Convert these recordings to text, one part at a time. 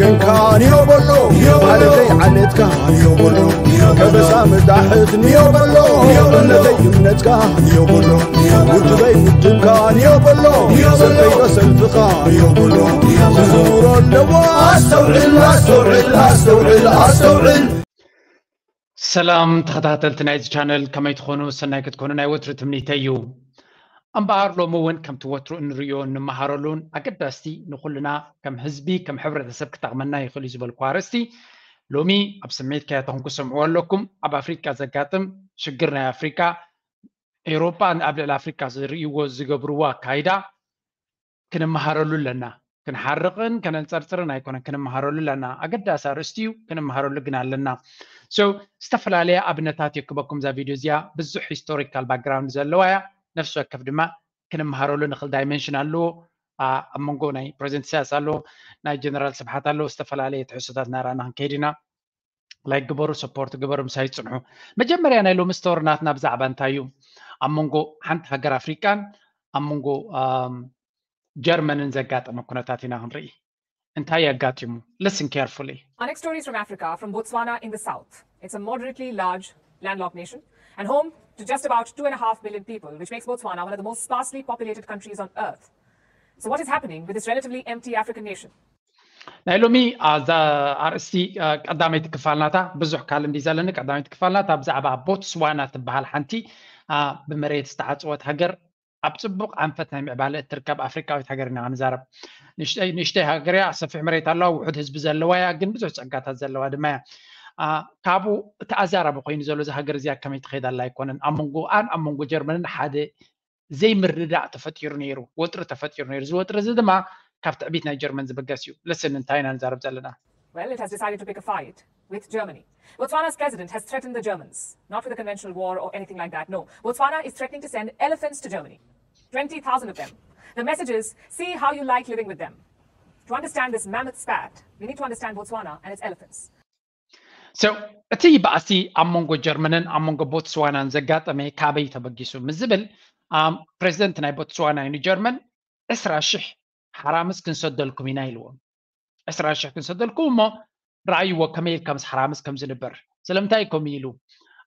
ገንካ ንዮ በሎ፣ ማለተይ ዓሌትካ ንዮ በሎ፣ ከበሳ መጣሕት ንዮ በሎ፣ እምነተይ እምነትካ ንዮ በሎ፣ ውድበይ ውድብካ ንዮ በሎ፣ ሰልፈይ ሰልፍኻ ንዮ በሎ፣ ክዝውሮ ኣለዎ። ኣስተውዕል፣ ኣስተውዕል፣ ኣስተውዕል፣ ኣስተውዕል። ሰላም ተኸታተልቲ ናይዚ ቻነል፣ ከመይ ትኾኑ? ሰናይ ክትኮኑ ናይ ወትሩ ትምኒተይ እዩ። እምበኣር ሎሚ እውን ከምቲ ወትሩ እንርእዮ እንመሃረሉን ኣገዳስቲ ንኹልና ከም ህዝቢ ከም ሕብረተሰብ ክጠቕመና ይኽእል እዩ ዝበልኩ ኣርእስቲ ሎሚ ኣብ ስምዒት ከያተኹም ክሰምዕዎ ኣለኩም። ኣብ ኣፍሪቃ ዘጋጥም ሽግር ናይ ኣፍሪቃ፣ ኤውሮጳ ኣብ ልዕሊ ኣፍሪቃ ዝርእይዎ ዝገብርዎ ኣካይዳ ክንመሃረሉ ኣለና። ክንሓርቕን ከነንጸርጽርን ኣይኮነን፣ ክንመሃረሉ ኣለና። ኣገዳሲ ኣርእስቲ እዩ፣ ክንመሃረሉ ግን ኣለና። So ዝተፈላለየ ኣብነታት የክበኩም እዛ ቪድዮ እዚኣ። ብዙሕ ሂስቶሪካል ባክግራውንድ ዘለዋ እያ። ነፍሲ ወከፍ ድማ ክንመሃረሉ ንኽእል ዳይመንሽን ኣለዎ። ኣብ መንጎ ናይ ፕሬዚደንት ኢሳያስ ኣሎ፣ ናይ ጀነራል ስብሓት ኣሎ። ዝተፈላለየ ትሕዝቶታት እናረኣና ክንከይድ ኢና። ላይክ ግበሩ፣ ሰፖርት ግበሩ፣ ምሳይ ይጽንሑ። መጀመርያ ናይ ሎሚ ስቶሪ ናትና ብዛዕባ እንታይ እዩ? ኣብ መንጎ ሓንቲ ሃገር ኣፍሪቃን ኣብ መንጎ ጀርመንን ዘጋጠመ ኩነታት ኢና ክንርኢ። እንታይ ኣጋጢሙ? Listen carefully. Our next story is from Africa, from Botswana in the south. It's a moderately large landlocked nation and home to just about two and a half million people, which makes Botswana one of the most sparsely populated countries on earth. So, what is happening with this relatively empty African nation? ናይ ሎሚ ኣዛ ኣርእስቲ ቀዳመይቲ ክፋልናታ ብዙሕ ካል እንዲ ዘለኒ ቀዳመይቲ ክፋልናታ ብዛዕባ ቦትስዋና ትበሃል ሓንቲ ብመሬት ዝተዓፅወት ሃገር ኣብ ፅቡቕ ኣንፈት ናይ ምዕባለ እትርከብ ኣፍሪካዊት ሃገር ኢና ክንዛረብ። ንእሽተይ ሃገር እያ፣ ሰፊሕ መሬት ኣለዋ፣ ውሑድ ህዝቢ ዘለዋ እያ፣ ግን ብዙሕ ፀጋታት ዘለዋ ድማ እያ። ካብኡ እቲ ኣዛራቢ ኮይኑ ዘሎ እዚ ሃገር እዚኣ ከመይ ትኸይድ ኣላ ኣይኮነን። ኣብ መንጎኣን ኣብ መንጎ ጀርመንን ሓደ ዘይምርዳእ ተፈጢሩ ነይሩ፣ ወጥሪ ተፈጢሩ ነይሩ። እዚ ወጥሪ እዚ ድማ ካብ ትዕቢት ናይ ጀርመን ዝብገስ እዩ። ልስን እንታይ ኢና ንዛረብ ዘለና? Well, it has decided to pick a fight with Germany. Botswana's president has threatened the Germans, not with a conventional war or anything like that. No, Botswana is threatening to send elephants to Germany. twenty thousand of them. The message is, see how you like living with them. To understand this mammoth spat, we need to understand Botswana and its elephants. So እቲ ባእሲ ኣብ መንጎ ጀርመንን ኣብ መንጎ ቦትስዋናን ዘጋጠመ ካበይ ተበጊሱ ምስ ዝብል፣ ፕሬዚደንት ናይ ቦትስዋና ንጀርመን ዕስራ ሽሕ ሓራምዝ ክንሰደልኩም ኢና ኢልዎም። ዕስራ ሽሕ ክንሰደልኩም እሞ ረኣይዎ ከመይ ኢልካ ምስ ሓራምዝ ከም ዝንበር። ስለምንታይ ከምኡ ኢሉ?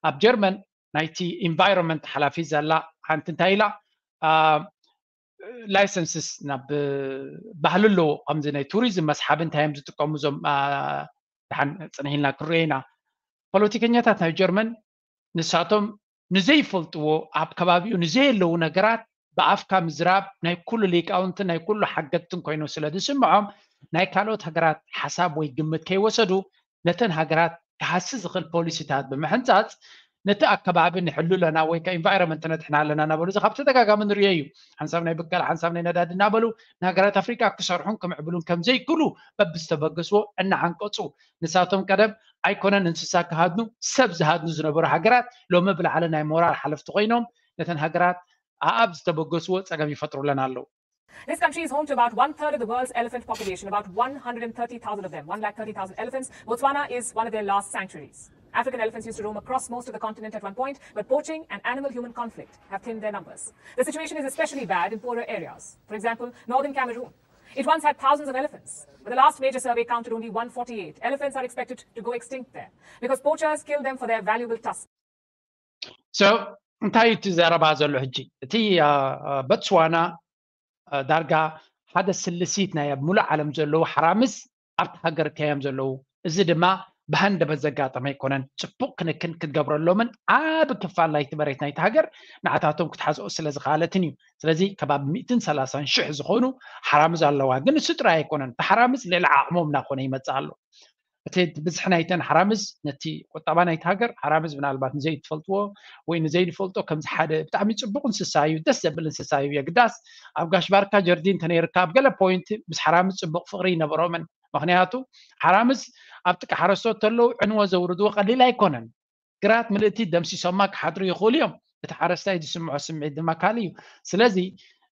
ኣብ ጀርመን ናይቲ ኢንቫይሮንመንት ሓላፊ ዘላ ሓንቲ እንታይ ኢላ? ላይሰንስስ ናብ ባህሊ ኣለዎ። ከምዚ ናይ ቱሪዝም መስሓቢ እንታይ እዮም ዝጥቀሙ እዞም ደሓን ፅንሕ ኢልና ክንሪኦ ኢና። ፖለቲከኛታት ናይ ጀርመን ንሳቶም ንዘይፈልጥዎ ኣብ ከባቢኡ ንዘየለዉ ነገራት ብኣፍካ ምዝራብ ናይ ኩሉ ሊቃውንትን ናይ ኩሉ ሓገግትን ኮይኖም ስለ ዝስምዖም ናይ ካልኦት ሃገራት ሓሳብ ወይ ግምት ከይወሰዱ ነተን ሃገራት ክሃሲ ዝኽእል ፖሊሲታት ብምሕንፃፅ ነቲ ኣከባቢ ንሕሉ ኣለና ወይ ከዓ ኢንቫይሮንመንት ነድሕና ኣለና እናበሉ እዚ ካብ ተደጋጋሚ ንሪኦ እዩ። ሓንሳብ ናይ ብቀል ሓንሳብ ናይ ነዳዲ እናበሉ ንሃገራት ኣፍሪቃ ክሰርሑን ክምዕብሉን ከም ዘይክእሉ በብዝተበገስዎ እናዓንቀፁ ንሳቶም ቀደም ኣይኮነን እንስሳ ክሃድኑ ሰብ ዝሃድኑ ዝነበሩ ሃገራት ሎሚ ብላዕሊ ናይ ሞራል ሓለፍቲ ኮይኖም ነተን ሃገራት ኣኣብ ዝተበገስዎ ፀገም ይፈጥሩለን ኣለዉ። This country is home to about one third of the world's elephant population, about one hundred thirty thousand of them, one lakh thirty thousand elephants. Botswana is one of their last sanctuaries. African elephants used to roam across most of the continent at one point, but poaching and animal human conflict have thinned their numbers. The situation is especially bad in poorer areas. For example, northern Cameroon. It once had thousands of elephants, but the last major survey counted only one forty-eight. Elephants are expected to go extinct there because poachers kill them for their valuable tusks. So እንታይ እዩ እቲ ዘረባ ዘሎ ሕጂ? እቲ ቦትስዋና ዳርጋ ሓደ ስልሲት ናይ ኣብ ሙሉእ ዓለም ዘለዉ ሓራምዝ ኣብቲ ሃገር ከዮም ዘለዉ። እዚ ድማ ብሃንደበት ዘጋጠመ ኣይኮነን። ፅቡቕ ክንክን ክትገብረሎምን ዓቢ ክፋል ናይቲ መሬት ናይቲ ሃገር ንዓታቶም ክትሓዝኦ ስለ ዝኸኣለትን እዩ። ስለዚ ከባቢ ሚእትን ሰላሳን ሽሕ ዝኾኑ ሓራምዝ ኣለዋ። ግን እሱ ጥራይ ኣይኮነን። እቲ ሓራምዝ ልዕሊ ዓቕሞም እናኾነ ይመፅእ ኣሎ። እቲ ብዝሒ ናይተን ሓራምዝ ነቲ ቁጠባ ናይቲ ሃገር ሓራምዝ ምናልባት ንዘይትፈልጥዎ ወይ ንዘይንፈልጦ ከምዚ ሓደ ብጣዕሚ ፅቡቕ እንስሳ እዩ፣ ደስ ዘብል እንስሳ እዩ። የግዳስ ኣብ ጋሽ ባርካ ጀርዲን እንተነይርካ ኣብ ገለ ፖይንት ምስ ሓራምዝ ፅቡቕ ፍቕሪ ይነበሮምን። ምክንያቱ ሓራምዝ ኣብ ጥቂ ሓረስቶት ተለዉ ዕንወ ዘውርድዎ ቀሊል ኣይኮነን። ግራት ምልእቲ ደምሲሶማ ክሓድሩ ይኽእሉ እዮም። እቲ ሓረስታይ ዝስምዖ ስምዒት ድማ ካልእ እዩ። ስለዚ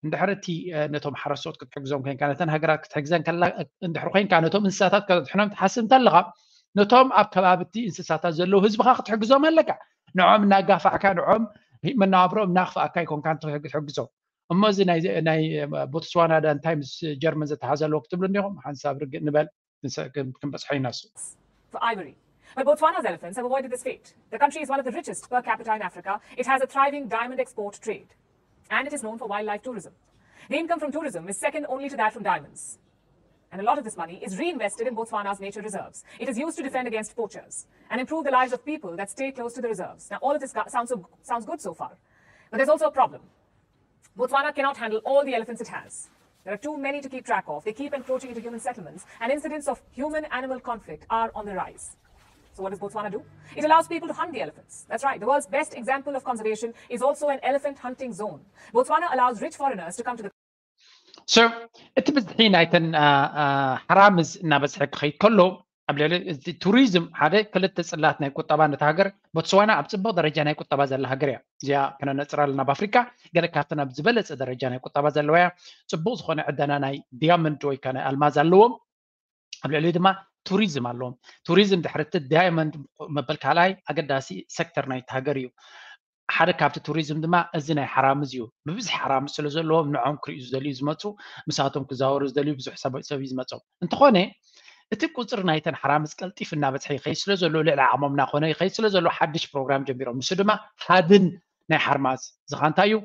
እንድሕር እቲ ነቶም ሓረስቶት ክትሕግዞም ኮይንካ ነተን ሃገራት ክትሕግዘን ከላ እንድሕር ኮይንካ ነቶም እንስሳታት ከድሕኖም ትሓስብ እንተለኻ ነቶም ኣብ ከባቢ እቲ እንስሳታት ዘለዉ ህዝብኻ ክትሕግዞም ኣለካ። ንዖም እናጋፋዕካ ንዖም መነባብሮም እናኽፍኣካ ኣይኮንካ ትሕግዞም። እሞ እዚ ናይ ቦትስዋና ዳ እንታይ ምስ ጀርመን ዘተሓዘ ኣለዎ ክትብሉ እንዲኹም? ሓንሳብ ርግእ ንበል። ክንበፅሖ ኢና። እሱ for ivory. But Botswana's elephants have avoided this fate. The country is one of the richest per capita in Africa. It has a thriving diamond export trade. And it is known for wildlife tourism. The income from tourism is second only to that from diamonds. And a lot of this money is reinvested in Botswana's nature reserves. It is used to defend against poachers and improve the lives of people that stay close to the reserves. Now, all of this sounds, so, sounds good so far. But there's also a problem. Botswana cannot handle all the elephants it has. There are too many to keep track of. They keep encroaching into human settlements, and incidents of human animal conflict are on the rise. So, what does Botswana do? It allows people to hunt the elephants. That's right. The world's best example of conservation is also an elephant hunting zone. Botswana allows rich foreigners to come to the so እቲ ብዝሒ ናይተን ሓራምዝ እናበዝሐ ክኸይድ ከሎ ኣብ ልዕሊ እቲ ቱሪዝም ሓደ ክልተ ፅላት ናይ ቁጠባ ነቲ ሃገር ቦትስዋና ኣብ ፅቡቅ ደረጃ ናይ ቁጠባ ዘላ ሃገር እያ። እዚኣ ክነነፅራ ኣለና። ኣብ ኣፍሪካ ገለ ካብተን ኣብ ዝበለፀ ደረጃ ናይ ቁጠባ ዘለዋ እያ። ፅቡቅ ዝኾነ ዕደና ናይ ዲያመንድ ወይ ከዓ ናይ ኣልማዝ ኣለዎም። ኣብ ልዕሊ ድማ ቱሪዝም ኣለዎም። ቱሪዝም ድሕሪ እቲ ዳይመንድ መበል ካልኣይ ኣገዳሲ ሴክተር ናይቲ ሃገር እዩ። ሓደ ካብቲ ቱሪዝም ድማ እዚ ናይ ሓራምዝ እዩ። ብብዝሒ ሓራምዝ ስለ ዘለዎም ንዖም ክርእዩ ዝደልዩ ዝመፁ፣ ምሳቶም ክዛወሩ ዝደልዩ ብዙሕ ሰብ ሰብ እዩ ዝመፆም። እንተኾነ እቲ ቁፅሪ ናይተን ሓራምዝ ቀልጢፍ እናበዝሐ ይኸይድ ስለ ዘሎ ልዕሊ ዓቕሞም እናኾነ ይኸይድ ስለ ዘሎ ሓድሽ ፕሮግራም ጀሚሮም። ንሱ ድማ ሃድን ናይ ሓርማዝ ዝኻ እንታይ እዩ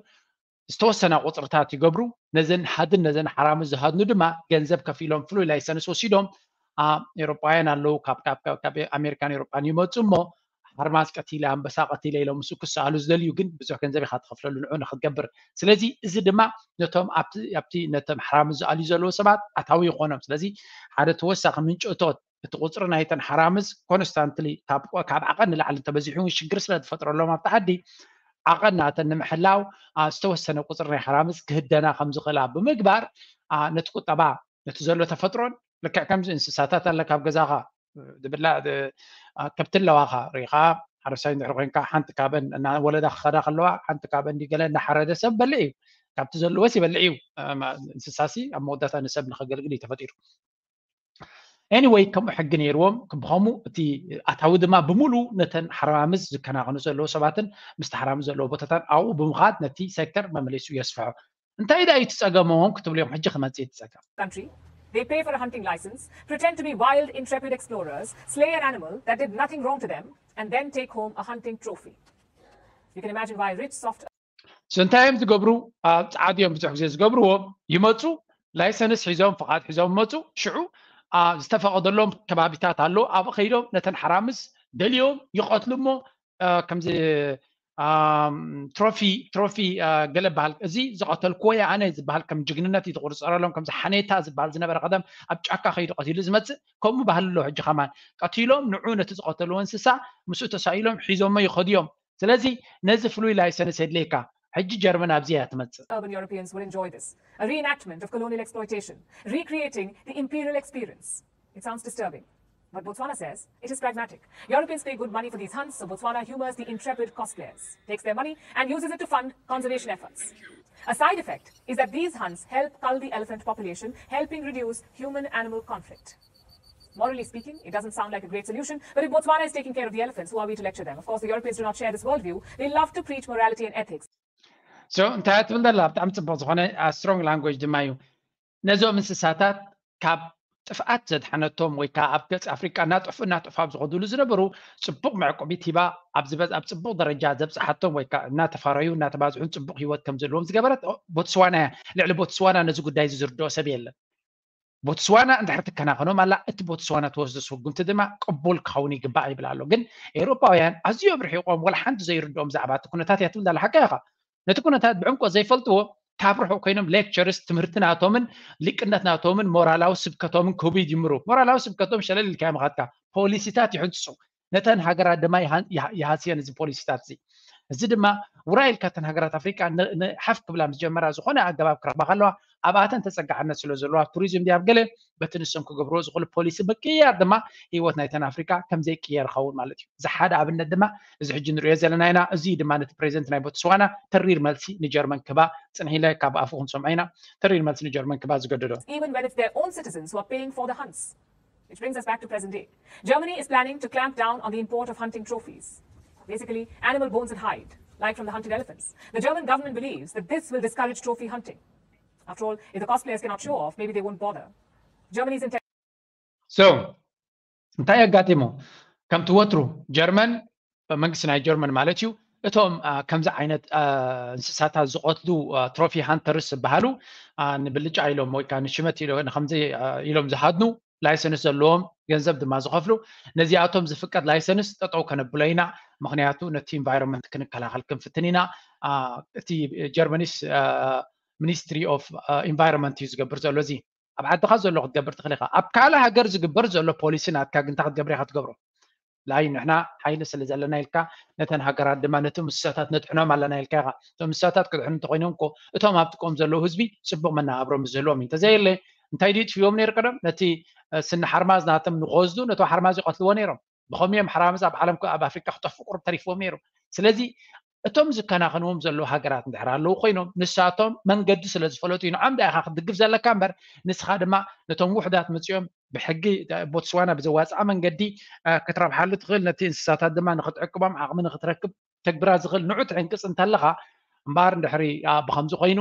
ዝተወሰና ቁፅርታት ይገብሩ። ነዘን ሃድን ነዘን ሓራምዝ ዝሃድኑ ድማ ገንዘብ ከፊሎም ፍሉይ ላይሰንስ ወሲዶም ኤሮጳውያን ኣለዉ ካብ ኣሜሪካን ኤሮጳን ይመፁ እሞ ሓርማዝ ቀቲለ ኣንበሳ ቀቲለ ኢሎም ምስኡ ክሰኣሉ ዝደልዩ ግን ብዙሕ ገንዘብ ኢካ ትኸፍለሉ ንዑ ንክትገብር። ስለዚ እዚ ድማ ነቶም ኣብቲ ነቶም ሓራምዝ ዝኣልዩ ዘለዉ ሰባት ኣታዊ ይኾኖም። ስለዚ ሓደ ተወሳኺ ምንጭ እቶት እቲ ቁፅሪ ናይተን ሓራምዝ ኮንስታንትሊ ካብ ዓቐን ንላዕሊ እንተበዚሑ እውን ሽግር ስለ ዝፈጥረሎም ኣብቲ ዓዲ ዓቐን ናተን ንምሕላው ዝተወሰነ ቁፅሪ ናይ ሓራምዝ ክህደና ከም ዝኽእላ ብምግባር ነቲ ቁጠባ ነቲ ዘሎ ተፈጥሮን ልክዕ ከምዚ እንስሳታት ኣለ ካብ ገዛኻ ዝብላ ከብቲ ኣለዋኻ ሪኻ ሓረሳይ እንድሕር ኮይንካ ሓንቲ ካበን ወለዳ ክኸዳ ከለዋ ሓንቲ ካበን ገለ እናሓረደ ሰብ በልዕ እዩ። ካብቲ ዘለዎስ ይበልዕ እዩ። እንስሳሲ ኣብ መወዳእታ ንሰብ ንኸገልግል እዩ ተፈጢሩ። Anyway ከምኡ ሕጊ ነይርዎም። ብኸምኡ እቲ ኣታዊ ድማ ብምሉኡ ነተን ሓራምዝ ዝከናኸኑ ዘለዉ ሰባትን ምስቲ ሓራምዝ ዘለዎ ቦታታት ኣብኡ ብምኻድ ነቲ ሴክተር መመሊሱ የስፍሖ። እንታይ ደኣ እዩ እቲ ጸገሞም ክትብሉ እዮም ሕጂ ክመጽእ እቲ ጸገም። They pay for a hunting license, pretend to be wild intrepid explorers, slay an animal that did nothing wrong to them, and then take home a hunting trophy. You can imagine why rich soft እንታይ እዮም ዝገብሩ? ጻዓት እዮም ብዙሕ ግዜ ዝገብርዎ። ይመጹ ላይሰንስ ሒዞም ፍቓድ ሒዞም ይመጹ። ሽዑ ዝተፈቐደሎም ከባቢታት ኣሎ ኣብኡ ከይዶም ነተን ሓራምዝ ደልዮም ይቐትሉ እሞ ከምዚ ትሮፊ ትሮፊ ገለ በሃል እዚ ዝቐተልክዎ እየ ኣነ ዝበሃል ከም ጅግንነት እዩ ዝቑርፀረሎም። ከምዚ ሓኔታ ዝበሃል ዝነበረ ቀደም ኣብ ጫካ ከይዱ ቀቲሉ ዝመፅእ ከምኡ ባህሊ ኣሎ። ሕጂ ከማን ቀቲሎም ንዑ ነቲ ዝቐተልዎ እንስሳ ምስኡ ተሳኢሎም ሒዞሞ ይኸዱ እዮም። ስለዚ ነዚ ፍሉይ ላይሰንስ የድልየካ። ሕጂ ጀርመን ኣብዚ እያ ትመፅእ። Urban Europeans will enjoy this. A reenactment of colonial exploitation, recreating the imperial experience. It sounds disturbing. But Botswana says it is pragmatic. Europeans pay good money for these hunts, so Botswana humors the intrepid cosplayers, takes their money, and uses it to fund conservation efforts. A side effect is that these hunts help cull the elephant population, helping reduce human animal conflict. Morally speaking, it doesn't sound like a great solution, but if Botswana is taking care of the elephants, who are we to lecture them? Of course, the Europeans do not share this worldview. They love to preach morality and ethics. So እንታይ ትብል ዘላ ብጣዕሚ ፅቡቅ ዝኾነ strong language ድማ እዩ። ነዞም እንስሳታት ካብ ጥፍኣት ዘድሓነቶም ወይ ከዓ ኣብ ገፅ ኣፍሪቃ እናጠፍኡ እናጠፍኡ ኣብ ዝኸዱሉ ዝነበሩ ፅቡቅ መዕቆቢት ሂባ ኣብ ዝበዝ ኣብ ፅቡቅ ደረጃ ዘብፅሓቶም ወይ ከዓ እናተፋረዩ እናተባዝሑን ፅቡቅ ሂወት ከም ዘለዎም ዝገበረት ቦትስዋና እያ። ልዕሊ ቦትስዋና ነዚ ጉዳይ እዚ ዝርድኦ ሰብ የለን። ቦትስዋና እንድሕር ትከናኸኖም ኣላ እቲ ቦትስዋና ትወስዶ ስጉምቲ ድማ ቅቡል ክኸውን ይግባእ ይብል ኣሎ። ግን ኤውሮጳውያን ኣዝዮም ርሒቖም ወላ ሓንቲ ዘይርድኦም ዛዕባ እቲ ኩነታት እያ ትብል ኣላ። ሓቂ ኢኻ። ነቲ ኩነታት ብዕምቆት ዘይፈልጥዎ ካብ ርሑቕ ኮይኖም lectures ትምህርቲ ናቶምን ሊቅነት ናቶምን ሞራላዊ ስብከቶምን ክህቡ ይጅምሩ። ሞራላዊ ስብከቶም ሸለል ኢልካ ምኻድካ ፖሊሲታት ይሕንፅፁ። ነተን ሃገራት ድማ ይሃስየን እዚ ፖሊሲታት እዚ። እዚ ድማ ውራይ ኢልካ እተን ሃገራት ኣፍሪቃ ሓፍ ክብላ ምስ ጀመራ ዝኾነ ኣገባብ ክረኽባ ከለዋ ኣብኣተን ተፀጋዕነት ስለ ዘለዎ ኣብ ቱሪዝም ድያ ኣብ ገለ በቲ ንሶም ክገብርዎ ዝኽእሉ ፖሊሲ ምቅያር ድማ ህይወት ናይተን ኣፍሪቃ ከም ዘይቅየር ይኸውን ማለት እዩ። እዚ ሓደ ኣብነት ድማ እዚ ሕጂ ንሪኦ ዘለና ኢና። እዚ ድማ ነቲ ፕሬዚደንት ናይ ቦትስዋና ተሪር መልሲ ንጀርመን ክባ ፅንሒለ ካብ ኣፉ ክንሰምዖ ኢና። ተሪር መልሲ ንጀርመን ክባ ዝገደዶ Even when it's their own citizens who are paying for the hunts. Which brings us back to present day. Germany is planning to clamp down on the import of hunting trophies, basically animal bones and hide, like from the hunted elephants. The German government believes that this will discourage trophy hunting. After all, if the cosplayers cannot show off, maybe they won't bother. Germany's intention so እንታይ ኣጋጢሙ? ከምቲ ወትሩ ጀርመን፣ መንግስቲ ናይ ጀርመን ማለት እዩ፣ እቶም ከምዚ ዓይነት እንስሳታት ዝቐትሉ ትሮፊ ሃንተርስ ዝበሃሉ ንብልጫ ኢሎም ወይ ከዓ ንሽመት ኢሎ- ንከምዚ ኢሎም ዝሃድኑ ላይሰንስ ዘለዎም፣ ገንዘብ ድማ ዝኸፍሉ፣ ነዚኣቶም ዝፍቀድ ላይሰንስ ጠጠው ከነብሎ ኢና። ምክንያቱ ነቲ ኢንቫይሮንመንት ክንከላኸል ክንፍትን ኢና። እቲ ጀርመኒስ ሚኒስትሪ ኦፍ ኢንቫይሮንመንት እዩ ዝገብር ዘሎ። እዚ ኣብ ዓድኻ ዘሎ ክትገብር ትኽእል ኢኻ። ኣብ ካልእ ሃገር ዝግበር ዘሎ ፖሊሲ ናትካ ግን እንታይ ክትገብር ኢኻ ትገብሮ? ላይ ንሕና ሓይሊ ስለ ዘለና ኢልካ ነተን ሃገራት ድማ ነቶም እንስሳታት ነድሕኖም ኣለና ኢልካ ኢኻ። እቶም እንስሳታት ክድሕኑ እንተኮይኖም እኮ እቶም ኣብ ጥቆም ዘለዉ ህዝቢ ጽቡቕ መነባብሮ ምስ ዝህልዎም እዩ። እንተዘየለ እንታይ ድዩ ጥፍዎም ነይሩ ቀደም? ነቲ ስኒ ሓርማዝ ናቶም ንክወስዱ ነቶ ሓርማዝ ይቐትልዎ ነይሮም። ብኸምኡ እዮም ሓርማዝ ኣብ ዓለም ኣብ ኣፍሪቃ ክጠፍኡ ቁሩብ ተሪፍዎም ነይሩ። ስለዚ እቶም ዝከናኸንዎም ዘለዉ ሃገራት እንድሕር ኣለዉ ኮይኖም ንሳቶም መንገዲ ስለ ዝፈለጡ እዩ። ንዖም ዳኢኻ ክትድግፍ ዘለካ እምበር ንስኻ ድማ ነቶም ውሕዳት መጺኦም ብሕጊ ቦትስዋና ብዘዋፅኣ መንገዲ ክትረብሓሉ ትኽእል፣ ነቲ እንስሳታት ድማ ንክትዕቅቦም ዓቕሚ ንክትረክብ ተግብራ ዝኽእል ንዑ ትዕንቅፅ እንተለኻ እምበኣር እንድሕሪ ብከምዚ ኮይኑ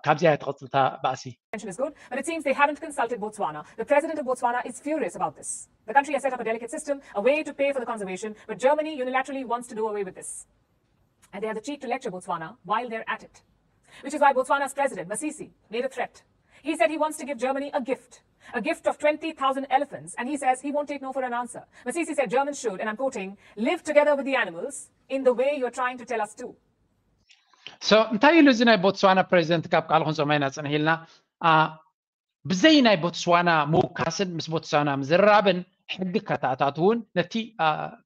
ካብዚኣ እያ ትቐፅልታ ባእሲ። Is good, but it seems they haven't consulted Botswana. The president of Botswana is furious about this. The country has set up a delicate system, a way to pay for the conservation, but Germany unilaterally wants to do away with this. And they have the cheek to lecture Botswana while they're at it. Which is why Botswana's president, Masisi, made a threat. He said he wants to give Germany a gift, a gift of twenty thousand elephants, and he says he won't take no for an answer. Masisi said Germans should, and I'm quoting, live together with the animals in the way you're trying to tell us to. So እንታይ ኢሉ እዚ ናይ ቦትስዋና ፕሬዚደንት? ካብ ቃል ክንሰማይና ፅንሕ ኢልና ብዘይ ናይ ቦትስዋና ምውካስን ምስ ቦትስዋና ምዝርራብን ሕጊ ከተኣታትውን ነቲ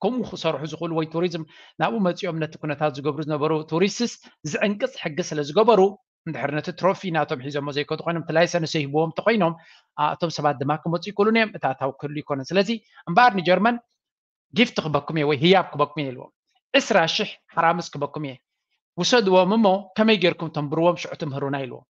ከምኡ ክሰርሑ ዝኽእሉ ወይ ቱሪዝም ናብኡ መፂኦም ነቲ ኩነታት ዝገብሩ ዝነበሩ ቱሪስትስ ዝዕንቅፅ ሕጊ ስለ ዝገበሩ እንድሕር ነቲ ትሮፊ ናቶም ሒዞሞ ዘይከዱ ኮይኖም እቲ ላይሰንስ ይህብዎም እንተኮይኖም እቶም ሰባት ድማ ክመፁ ይክእሉን እዮም። እቲ ኣታዊ ክህሉ ይኮነን። ስለዚ እምበኣር ንጀርመን ጊፍት ክበኩም እየ ወይ ህያብ ክበኩም እየ ኢልዎም። ዕስራ ሽሕ ሓራምዝ ክበኩም እየ ውሰድዎም እሞ ከመይ ጌርኩም ተንብርዎም ሽዑ ትምህሩና ኢልዎም።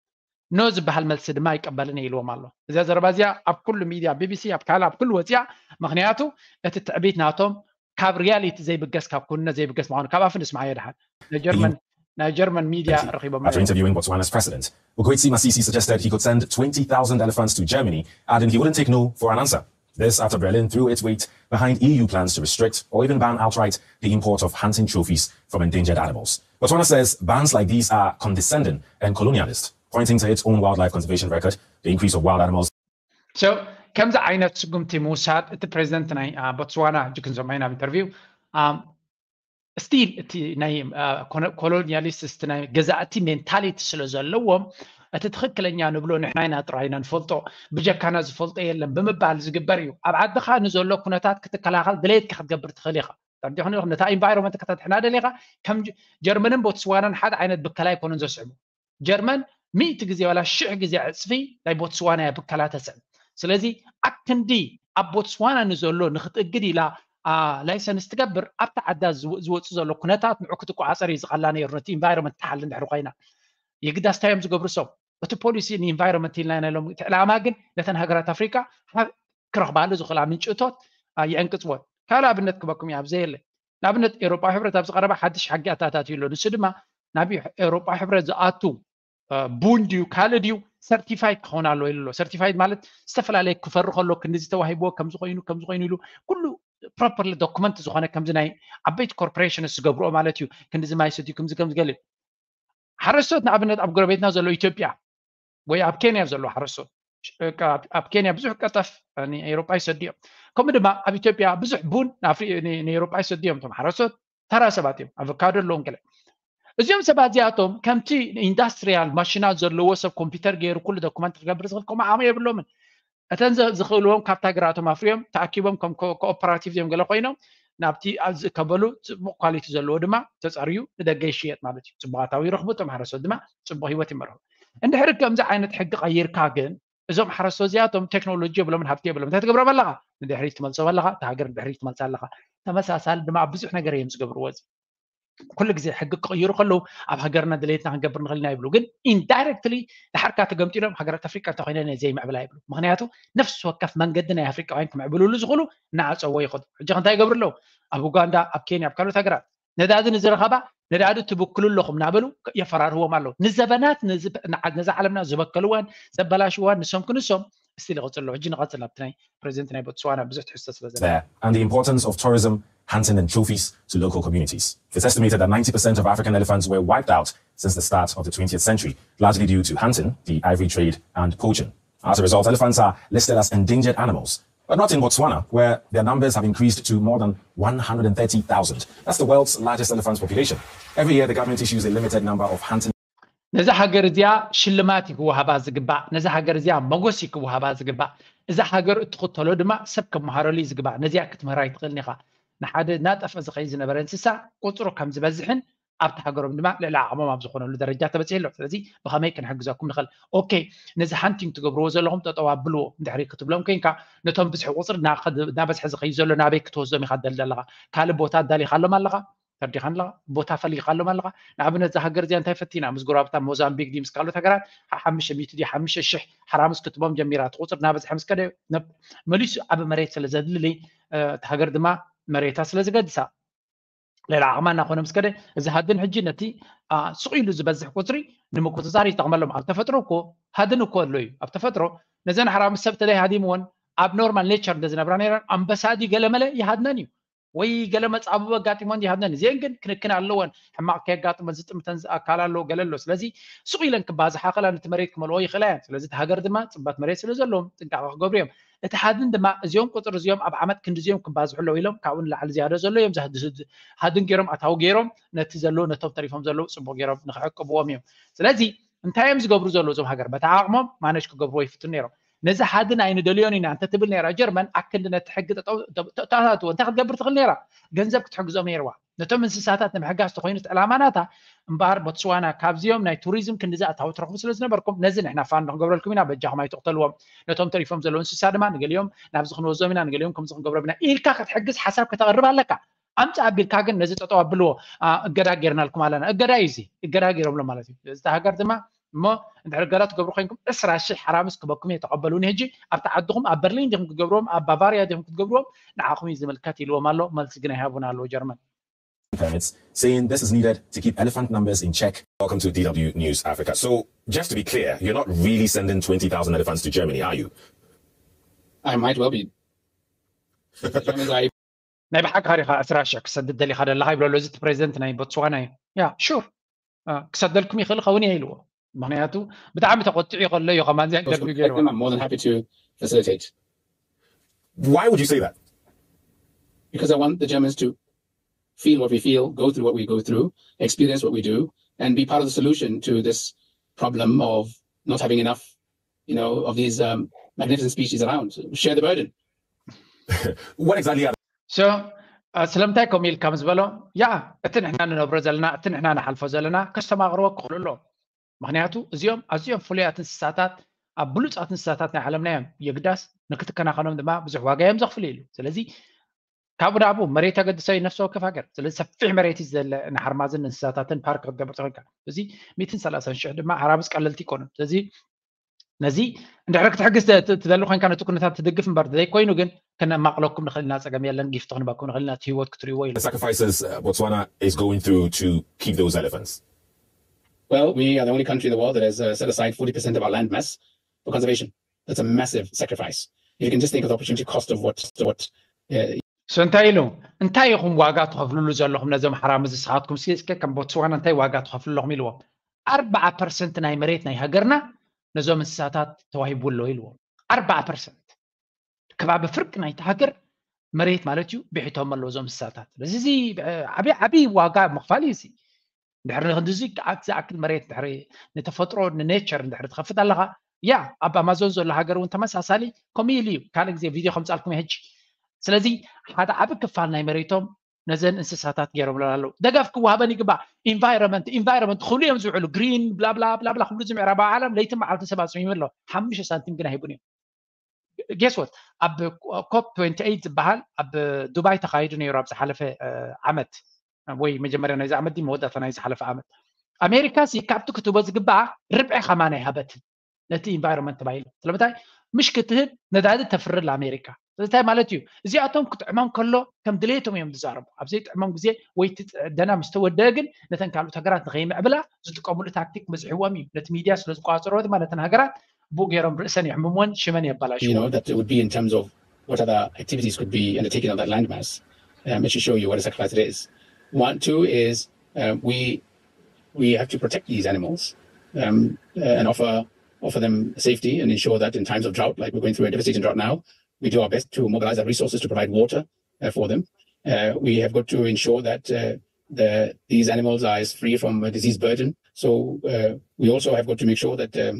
ኖ ዝበሃል መልሲ ድማ ኣይቀበልን እየ ኢልዎም ኣሎ። እዚኣ ዘረባ እዚኣ ኣብ ኩሉ ሚድያ ቢቢሲ ኣብ ካልእ ኣብ ኩሉ ወፂኣ። ምክንያቱ እቲ ትዕቢት ናቶም ካብ ሪያሊቲ ዘይብገስ ካብ ኩንነት ዘይብገስ ምኳኑ ካብ ኣፍ ንስምዓዮ ድሓን ናይ ጀርመን ናይ ጀርመን ሚድያ ረኺቦም After interviewing Botswana's president, Ukwetsi Masisi suggested he could send twenty thousand elephants to Germany, adding he wouldn't take no for an answer. This after Berlin threw its weight behind E U plans to restrict or even ban outright the import of hunting trophies from endangered animals. Botswana says bans like these are condescending and colonialist, pointing to its own wildlife conservation record, the increase of wild animals. So ከምዚ ዓይነት ስጉምቲ ምውሳድ እቲ ፕሬዚደንት ናይ ቦትስዋና ሕጂ ክንሰምዖ ኢና ኣብ ኢንተርቪው ስቲል እቲ ናይ ኮሎኒያሊስት እቲ ናይ ገዛእቲ ሜንታሊቲ ስለ ዘለዎም እቲ ትኽክለኛ ንብሎ ንሕና ኢና ጥራይ ኢና ንፈልጦ፣ ብጀካና ዝፈልጦ የለን ብምባል ዝግበር እዩ። ኣብ ዓድኻ ንዘሎ ኩነታት ክትከላኸል ድሌትካ ክትገብር ትኽእል ኢኻ። ነታ ኢንቫይሮንመንት ከተድሕና ደሊኻ ከም ጀርመንን ቦትስዋናን ሓደ ዓይነት ብከላ ኣይኮኑን ዘስዕቡ። ጀርመን ሚእቲ ግዜ ዋላ ሽሕ ግዜ ዕፅፊ ናይ ቦትስዋና እያ ብከላ ተስዕብ። ስለዚ ኣብ ክንዲ ኣብ ቦትስዋና ንዘሎ ንክትእግድ ኢላ ላይሰንስ ትገብር ኣብቲ ዓዳ ዝወፅእ ዘሎ ኩነታት ንዑ ክትቆፃፀር እዩ ዝቐላ ነይሩ። ነቲ ኢንቫይሮንመንት ትሓሊ እንድሕር ኮይና የግዳስ እንታይ እዮም ዝገብሩ ሰብ እቲ ፖሊሲ ንኢንቫይሮንመንት ኢልና ኢና ኢሎም። እቲ ዕላማ ግን ነተን ሃገራት ኣፍሪቃ ክረኽባሉ ዝኽእላ ምንጪ እቶት የዕንቅፅወን። ካልእ ኣብነት ክበኩም እየ ኣብዘየለ ንኣብነት ኤውሮጳዊ ሕብረት ኣብዚ ቀረባ ሓድሽ ሕጊ ኣተኣታትዩ ኣሎ። ንሱ ድማ ናብ ኤውሮጳዊ ሕብረት ዝኣቱ ቡን ድዩ ካልእ ድዩ ሰርቲፋይድ ክኸውን ኣለዎ ኢሉ ኣሎ። ሰርቲፋይድ ማለት ዝተፈላለየ ክፈሪ ከሎ ክንዲዚ ተዋሂብዎ ከምዚ ኮይኑ ከምዚ ኮይኑ ኢሉ ኩሉ ፕሮፐርሊ ዶክመንት ዝኾነ ከምዚ ናይ ዓበይቲ ኮርፖሬሽንስ ዝገብርኦ ማለት እዩ። ክንዲዚ ማይ ሰትዩ ከምዚ ከምዚ ገለ ሓረስቶት ንኣብነት ኣብ ጎረቤትና ዘሎ ኢትዮጵያ ወይ ኣብ ኬንያ ዘሎ ሓረስቶት ኣብ ኬንያ ብዙሕ ቀጠፍ ንኤውሮጳ ይሰድዮም። ከምኡ ድማ ኣብ ኢትዮጵያ ብዙሕ ቡን ንኤውሮጳ ይሰድዮም። እቶም ሓረስቶት ተራ ሰባት እዮም። ኣቨካዶ ኣለዎም ገለ እዚኦም ሰባት እዚኣቶም ከምቲ ኢንዳስትሪያል ማሽናት ዘለዎ ሰብ ኮምፒውተር ገይሩ ኩሉ ዶኩመንት ክገብር ዝኽእል ከምኡ ዓቕሚ የብሎምን። እተን ዝኽእልዎም ካብታ ሃገራቶም ኣፍርዮም ተኣኪቦም ከም ኮኦፐራቲቭ እዮም ገለ ኮይኖም ናብቲ ዝእከበሉ ፅቡቕ ኳሊቲ ዘለዎ ድማ ተፀርዩ ንደገ ይሽየጥ ማለት እዩ። ፅቡቕ ኣታዊ ይረኽቡ፣ እቶም ሓረስቶት ድማ ፅቡቕ ህይወት ይመርሑ። እንድሕሪ ከምዚ ዓይነት ሕጊ ቀይርካ ግን እዞም ሓረስቶት እዚኣቶም ቴክኖሎጂ የብሎምን፣ ሃብቲ የብሎምን። እንታይ ትገብሮም ኣለኻ? ንድሕሪት ትመልሶም ኣለኻ። እታ ሃገር ንድሕሪት ትመልሳ ኣለኻ። ተመሳሳሊ ድማ ኣብ ብዙሕ ነገር እዮም ዝገብርዎ። እዚ ኩሉ ግዜ ሕጊ ክቕይሩ ከለዉ ኣብ ሃገርና ድሌትና ክንገብር ንኽእል ኢና ይብሉ። ግን ኢንዳይረክትሊ ድሓርካ ተገምጢሎም ሃገራት ኣፍሪቃ እንተኮይነን እየ ዘይምዕብላ ይብሉ። ምክንያቱ ነፍሲ ወከፍ መንገዲ ናይ ኣፍሪቃውያን ክምዕብልሉ ዝኽእሉ እናዓፀዎ ይኸዱ። ሕጂ እንታይ ይገብሩ ኣለዉ? ኣብ ኡጋንዳ፣ ኣብ ኬንያ፣ ኣብ ካልኦት ሃገራት ነዳዲ ንዝረኸባ ነዳዲ ትብክሉ ኣለኹም እናበሉ የፈራርህዎም ኣለዉ። ንዘበናት ነዛ ዓለምና ዝበከልዋን ዘበላሽዋን ንሶም ክንሶም እስቲ ንቐፅሎ ሕጂ ንቐፅል ኣብቲ ናይ ፕሬዚደንት ናይ ቦትስዋና ብዙሕ ትሕዝቶ ስለ ዘሎ there and the importance of tourism, hunting and trophies to local communities. It's estimated that ninety percent of African elephants were wiped out since the start of the twentieth century, largely due to hunting, the ivory trade, and poaching. As a result, elephants are listed as endangered animals, but not in Botswana, where their numbers have increased to more than one hundred thirty thousand. That's the world's largest elephant population. Every year, the government issues a limited number of hunting ነዛ ሃገር እዚኣ ሽልማት እዩ ክወሃባ ዝግባእ፣ ነዛ ሃገር እዚኣ መጎስ እዩ ክወሃባ ዝግባእ። እዛ ሃገር እትኽተሎ ድማ ሰብ ከመሃረሉ እዩ ዝግባእ። ነዚኣ ክትምህራ ይትኽእልን ኢኻ። ንሓደ እናጠፍአ ዝኸይድ ዝነበረ እንስሳ ቁፅሩ ከም ዝበዝሕን ኣብቲ ሃገሮም ድማ ልዕሊ ዓቕሞም ኣብ ዝኾነሉ ደረጃ ተበፂሑ ኣሎ። ስለዚ ብኸመይ ክንሕግዘኩም ንኽእል? ኦኬ፣ ነዚ ሃንቲንግ ትገብርዎ ዘለኹም ጠጠው ኣብልዎ እንድሕሪ ክትብሎም ኮይንካ፣ ነቶም ብዝሒ ቁፅሪ እናኸድ- እናበዝሐ ዝኸይድ ዘሎ ናበይ ክትወስዶም ኢኻ ትደሊ ኣለኻ? ካልእ ቦታ ኣዳሊኻሎም ኣለኻ? ተርዲኻን ኣለኻ? ቦታ ፈሊኻሎም ኣለኻ? ንኣብነት እዛ ሃገር እዚኣ እንታይ ፈቲና ምስ ጎረባብታ ሞዛምቢክ ድዩ ምስ ካልኦት ሃገራት ሓ- ሓሙሽተ ሚእቲ ድዩ ሓሙሽተ ሽሕ ሓራምዝ ክትቦም ጀሚራ እቲ ቁፅሪ እናበዝሐ ምስ ከደ ነብ- መሊሱ ዓብ መሬት ስለ ዘድልሊ እ፣ እቲ ሃገር ድማ መሬታ ስለ ዝገድሳ ልዕሊ ዓቕማ እናኾነ ምስ ከደ እዚ ሃድን ሕጂ ነቲ ኣ፣ ስቕ ኢሉ ዝበዝሕ ቁፅሪ ንምቁፅፃር ይጠቕመሎም። ኣብ ተፈጥሮ እኮ ሃድን እኮ ኣሎ እዩ። ኣብ ተፈጥሮ ነዘን ሓራምዝ ሰብ ተለይ ሃዲምወን ኣብ ኖርማል ኔቸር እንተዝነብራ ነይረን ኣንበሳ ድዩ ገለመለ ይሃድነን እዩ ወይ ገለ መጻብቦ ኣጋጢሞን ይሃብነን። እዚአን ግን ክንክን ኣለወን። ሕማቕ ከየጋጥመን ዝጥምተን ኣካል ኣሎ፣ ገለ ኣሎ። ስለዚ ስቕ ኢለን ክባዝሓ ከላ ነቲ መሬት ክመልኦ ይኽእላ እየን። ስለዚ እቲ ሃገር ድማ ጽበት መሬት ስለ ዘለዎም ጥንቃቐ ክገብሩ እዮም። እቲ ሃድን ድማ እዚኦም ቁጽሪ እዚኦም ኣብ ዓመት ክንዲ እዚኦም ክባዝሑ ኣለዉ ኢሎም ካብኡ ንላዕሊ ዝያዶ ዘሎ እዮም ዝሃ- ዝህ- ሃድን ገይሮም ኣታዊ ገይሮም ነቲ ዘሎ ነቶም ተሪፎም ዘለዉ ጽቡቕ ገይሮም ንክዕቅብዎም እዮም። ስለዚ እንታይ እዮም ዝገብሩ ዘለዉ እዞም ሃገር በታ ዓቕሞም ማነጅ ክገብርዎ ይፍትኑ ነይሮም። ነዚ ሃድን ኣይንደልዮን ኢና እንተትብል ነይራ ጀርመን ኣክንዲ ነቲ ሕጊ ተታትዎ እንታይ ክትገብር ትኽእል ነይራ? ገንዘብ ክትሕግዞም ነይርዋ። ነቶም እንስሳታት ንምሕጋዝ ተኮይኑ ዕላማ ናታ እምበኣር ቦትስዋና ካብዚኦም ናይ ቱሪዝም ክንዲዚ ኣታዊ ትረኽቡ ስለ ዝነበርኩም ነዚ ንሕና ፋንድ ክንገብረልኩም ኢና በጃኹም ኣይትቕተልዎም ነቶም ተሪፎም ዘለዉ እንስሳ ድማ ንገሊኦም ናብዚ ክንወዞም ኢና ንገሊኦም ከምዚ ክንገብሮም ኢና ኢልካ ክትሕግዝ ሓሳብ ከተቕርብ ኣለካ ኣምፃ ኣቢልካ ግን ነዚ ጠጠው ኣብልዎ እገዳ ጌርናልኩም ኣለና እገዳ እዩ እዚ እገዳ ጌሮምሎ ማለት እዩ እዚ ሃገር ድማ እሞ እንድሕር እገዳ ትገብሩ ኮይንኩም ዕስራ ሽሕ ሓራምዝ ክበኩም እየ ተቐበሉኒ ሕጂ ኣብቲ ዓድኹም ኣብ በርሊን ዲኹም ክትገብርዎም ኣብ ባቫርያ ዲኹም ክትገብርዎም ንዓኹም እዩ ዝምልከት ኢልዎም ኣሎ መልሲ ግን ኣይሃቡን ኣለዉ ጀርመን permits, saying this is needed to keep elephant numbers in check. Welcome to D W News Africa. So, just to be clear, you're not really sending twenty thousand elephants to Germany, are you? I might well be. The Germans are ናይ ብሓቂ ሪኻ ዕስራ ሽሕ ክሰድድ ደሊኻ ደለኻ ይብለሎ እዚ ፕሬዚደንት ናይ ቦትስዋና እዩ ያ ሹር ክሰደልኩም ይኽእል ኸውን እየ ኢልዎ ምክንያቱ ብጣዕሚ ተቆጢዑ ከሎ እዩ ከማን Those who ኢንተርቪው protect ገይርዎ them, I'm more than happy to facilitate. Why would you say that? Because I want the Germans to feel what we feel, go through what we go through, experience what we do, and be part of the solution to this problem of not having enough, you know, of these um, magnificent species around. Share the burden. What exactly are so ስለምንታይ ከምኡ ኢልካ ምስ በሎ ያ እቲ ንሕና ንነብሮ ዘለና እቲ ንሕና ንሓልፎ ዘለና ከስተማቕርዎ ክኽእሉ ኣለዎም ምክንያቱ እዚኦም ኣዝዮም ፍሉያት እንስሳታት ኣብ ብሉፃት እንስሳታት ናይ ዓለምና እዮም የግዳስ ንክትከናኸኖም ድማ ብዙሕ ዋጋ እዮም ዘኽፍሉ ኢሉ ስለዚ ካብኡ ናብኡ መሬት ኣገድሶ እዩ ነፍሲ ወከፍ ሃገር ስለዚ ሰፊሕ መሬት እዩ ዘለ ንሓርማዝን እንስሳታትን ፓርክ ክትገብር ተኽእልካ እዚ ሚእትን ሰላሳን ሽሕ ድማ ሓራምዝ ቀለልቲ ይኮኑ ስለዚ ነዚ እንድሕር ክትሕግዝ ትደሊ ኮይንካ ነቲ ኩነታት ትድግፍ እምበር ዘይኮይኑ ግን ከነማቕለኩም ንኽእል ኢና ፀገም የለን ጊፍቲ ክንበኩም ንኽእል ኢና እቲ ህይወት ክትሪእዎ ኢሉ the sacrifices uh, Botswana is going through to keep those elephants? Well, we are the only country in the world that has uh, set aside forty percent of our land mass for conservation. That's a massive sacrifice. If you can just think of the opportunity cost of what, what uh, so እንታይ ኢሉ እንታይ ኢኹም ዋጋ ትኸፍልሉ ዘለኹም ነዞም ሓራምዝ ንስኻትኩም እስከ ከም ቦትስዋና እንታይ ዋጋ ትኸፍሉ ኣለኹም ኢልዎም ኣርባዓ ፐርሰንት ናይ መሬት ናይ ሃገርና ነዞም እንስሳታት ተዋሂቡ ኣሎ ኢልዎም ኣርባዓ ፐርሰንት ከባቢ ፍርቂ ናይቲ ሃገር መሬት ማለት እዩ ብሒቶም ኣለዉ እዞም እንስሳታት ስለዚ እዚ ዓብዪ ዓብዪ ዋጋ ምኽፋል እዩ እዚ እንድሕር ንክንድዚ ዝኣክል መሬት ድሕሪ ንተፈጥሮ ንኔቸር እንድሕር ትኸፍት ኣለኻ ያ ኣብ ኣማዞን ዘሎ ሃገር እውን ተመሳሳሊ ከምኡ ኢሉ እዩ ካልእ ግዜ ቪድዮ ከምፃልኩም ሕጂ ስለዚ ሓደ ዓብ ክፋል ናይ መሬቶም ነዘን እንስሳታት ገይሮምለን ኣለዉ ደገፍ ክወሃበን ይግባእ ኢንቫይሮመንት ኢንቫይሮመንት ክብሉ እዮም ዝውዕሉ ግሪን ብላብላ ብላብላ ክብሉ ዝምዕራባዊ ዓለም ለይትን መዓልትን ሰባት ስሚሙ ኣሎ ሓሙሽተ ሳንቲም ግን ኣይቡን እዮም guess what ኣብ ኮፕ ትወንቲ ኤይት ዝበሃል ኣብ ዱባይ ተኻይዱ ነይሩ ኣብ ዝሓለፈ ዓመት ወይ መጀመርያ ናይዚ ዓመት ድዩ መወዳእታ ናይ ዝሓለፈ ዓመት ኣሜሪካ ሲ ካብቲ ክትህቦ ዝግባኣ ርብዒ ከማን ኣይሃበትን ነቲ ኢንቫይሮንመንት ተባሂሉ ስለምንታይ ምሽ ክትህብ ነዳዲ ተፍርል ኣሜሪካ ስለምንታይ ማለት እዩ እዚኣቶም ክጥዕሞም ከሎ ከም ድሌቶም እዮም ዝዛረቡ ኣብ ዘይጥዕሞም ግዜ ወይ እቲ ደና ምስ ተወደአ ግን ነተን ካልኦት ሃገራት ንኸይምዕብላ ዝጥቀምሉ ታክቲክ በዝሕዎም እዩ ነቲ ሚድያ ስለ ዝቋፀሮ ድማ ነተን ሃገራት ብኡ ገይሮም ርእሰን የሕምምወን፣ ሽመን የባላሽዎ። That would be in terms of what other activities could be undertaken on that landmass, um, to show you what a sacrifice it is. One, two is um, we we have to protect these animals um, uh, and offer offer them safety and ensure that in times of drought, like we're going through a devastating drought now, we do our best to mobilize our resources to provide water uh, for them. Uh, we have got to ensure that uh, the, these animals are as free from a disease burden. So uh, we also have got to make sure that um,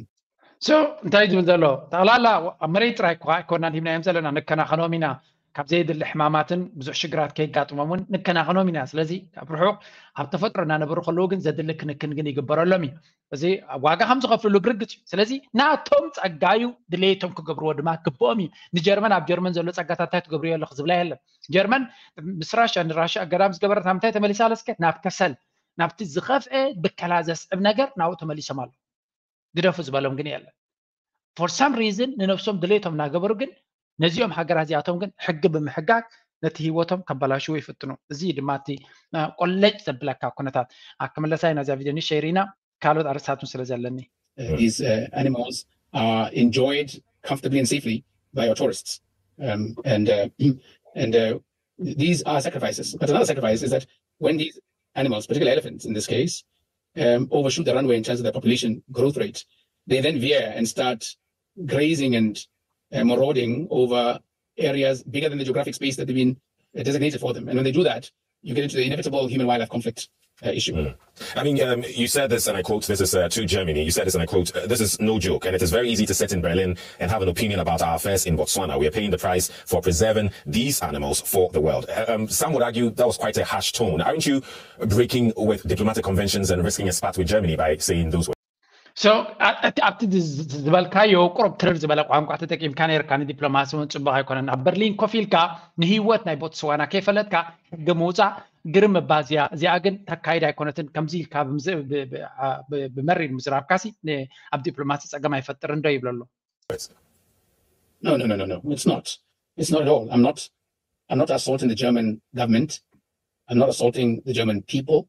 so እንታይ ዝብል ዘሎ ጠቕላላ ኣብ መሬት ጥራይ እኳ ኣይኮናን ሂብናዮም ዘለና፣ ንከናኸኖም ኢና፣ ካብ ዘየድሊ ሕማማትን ብዙሕ ሽግራት ከይጋጥሞም እውን ንከናኸኖም ኢና። ስለዚ ኣብ ርሑቕ ኣብ ተፈጥሮ እናነበሩ ከለዉ ግን ዘድሊ ክንክን ግን ይግበረሎም እዩ። እዚ ዋጋ ከም ዝኸፍልሉ ብርግጽ እዩ። ስለዚ ናቶም ጸጋ እዩ፣ ድሌቶም ክገብርዎ ድማ ግብኦም እዩ። ንጀርመን ኣብ ጀርመን ዘሎ ጸጋታት እንታይ ትገብርዮ ኣለኹ ዝብላ የለን። ጀርመን ምስ ራሽያ ንራሽያ ኣገዳም ዝገበረት ናብ እንታይ ተመሊሳ ኣለስከ? ናብ ከሰል፣ ናብቲ ዝኸፍአ ብከላ ዘስዕብ ነገር ናብኡ ተመሊሶም ኣለዉ። ግደፉ ዝበሎም ግን የለን። For some reason ንነብሶም ድሌቶም እናገበሩ ግን ነዚኦም ሃገራት እዚኣቶም ግን ሕጊ ብምሕጋግ ነቲ ህይወቶም ከባላሽዎ ይፍትኑ። እዚ ድማ እቲ ቆለጭ ዘብለካ ኩነታት። ክምለሳ ኢና እዛ ቪድዮ ንሸይር ኢና፣ ካልኦት ኣርእስታት ስለ ዘለኒ። These uh, animals are enjoyed comfortably and safely by our tourists. Um, and uh, and uh, these are sacrifices. But another sacrifice is that when these animals, particularly elephants in this case, um, overshoot the runway in terms of their population growth rate, they then veer and start grazing and uh, marauding over areas bigger than the geographic space that they've been uh, designated for them. And when they do that, you get into the inevitable human-wildlife conflict uh, issue. I mean, um, you said this, and I quote, this is uh, to Germany. You said this, and I quote, uh, this is no joke, and it is very easy to sit in Berlin and have an opinion about our affairs in Botswana. We are paying the price for preserving these animals for the world. Uh, um, some would argue that was quite a harsh tone. Aren't you breaking with diplomatic conventions and risking a spat with Germany by saying those words? So ኣብቲ ዝበልካዮ ቁሩብ ትርር ዝበለ ቋንቋ ተጠቂምካ ነርካ። ንዲፕሎማሲ እውን ፅቡቅ ኣይኮነን። ኣብ በርሊን ኮፍ ኢልካ ንህይወት ናይ ቦትስዋና ከይፈለጥካ ሕጊ ምውፃእ ግርም እባ እዚኣ እዚኣ ግን ተካይድ ኣይኮነትን። ከምዚ ኢልካ ብመሪር ምዝራብካሲ ኣብ ዲፕሎማሲ ፀገም ኣይፈጥርን ዶ ይብለሎ። No, no, no, no, no. It's not. It's not at all. I'm not. I'm not assaulting the German government. I'm not assaulting the German people.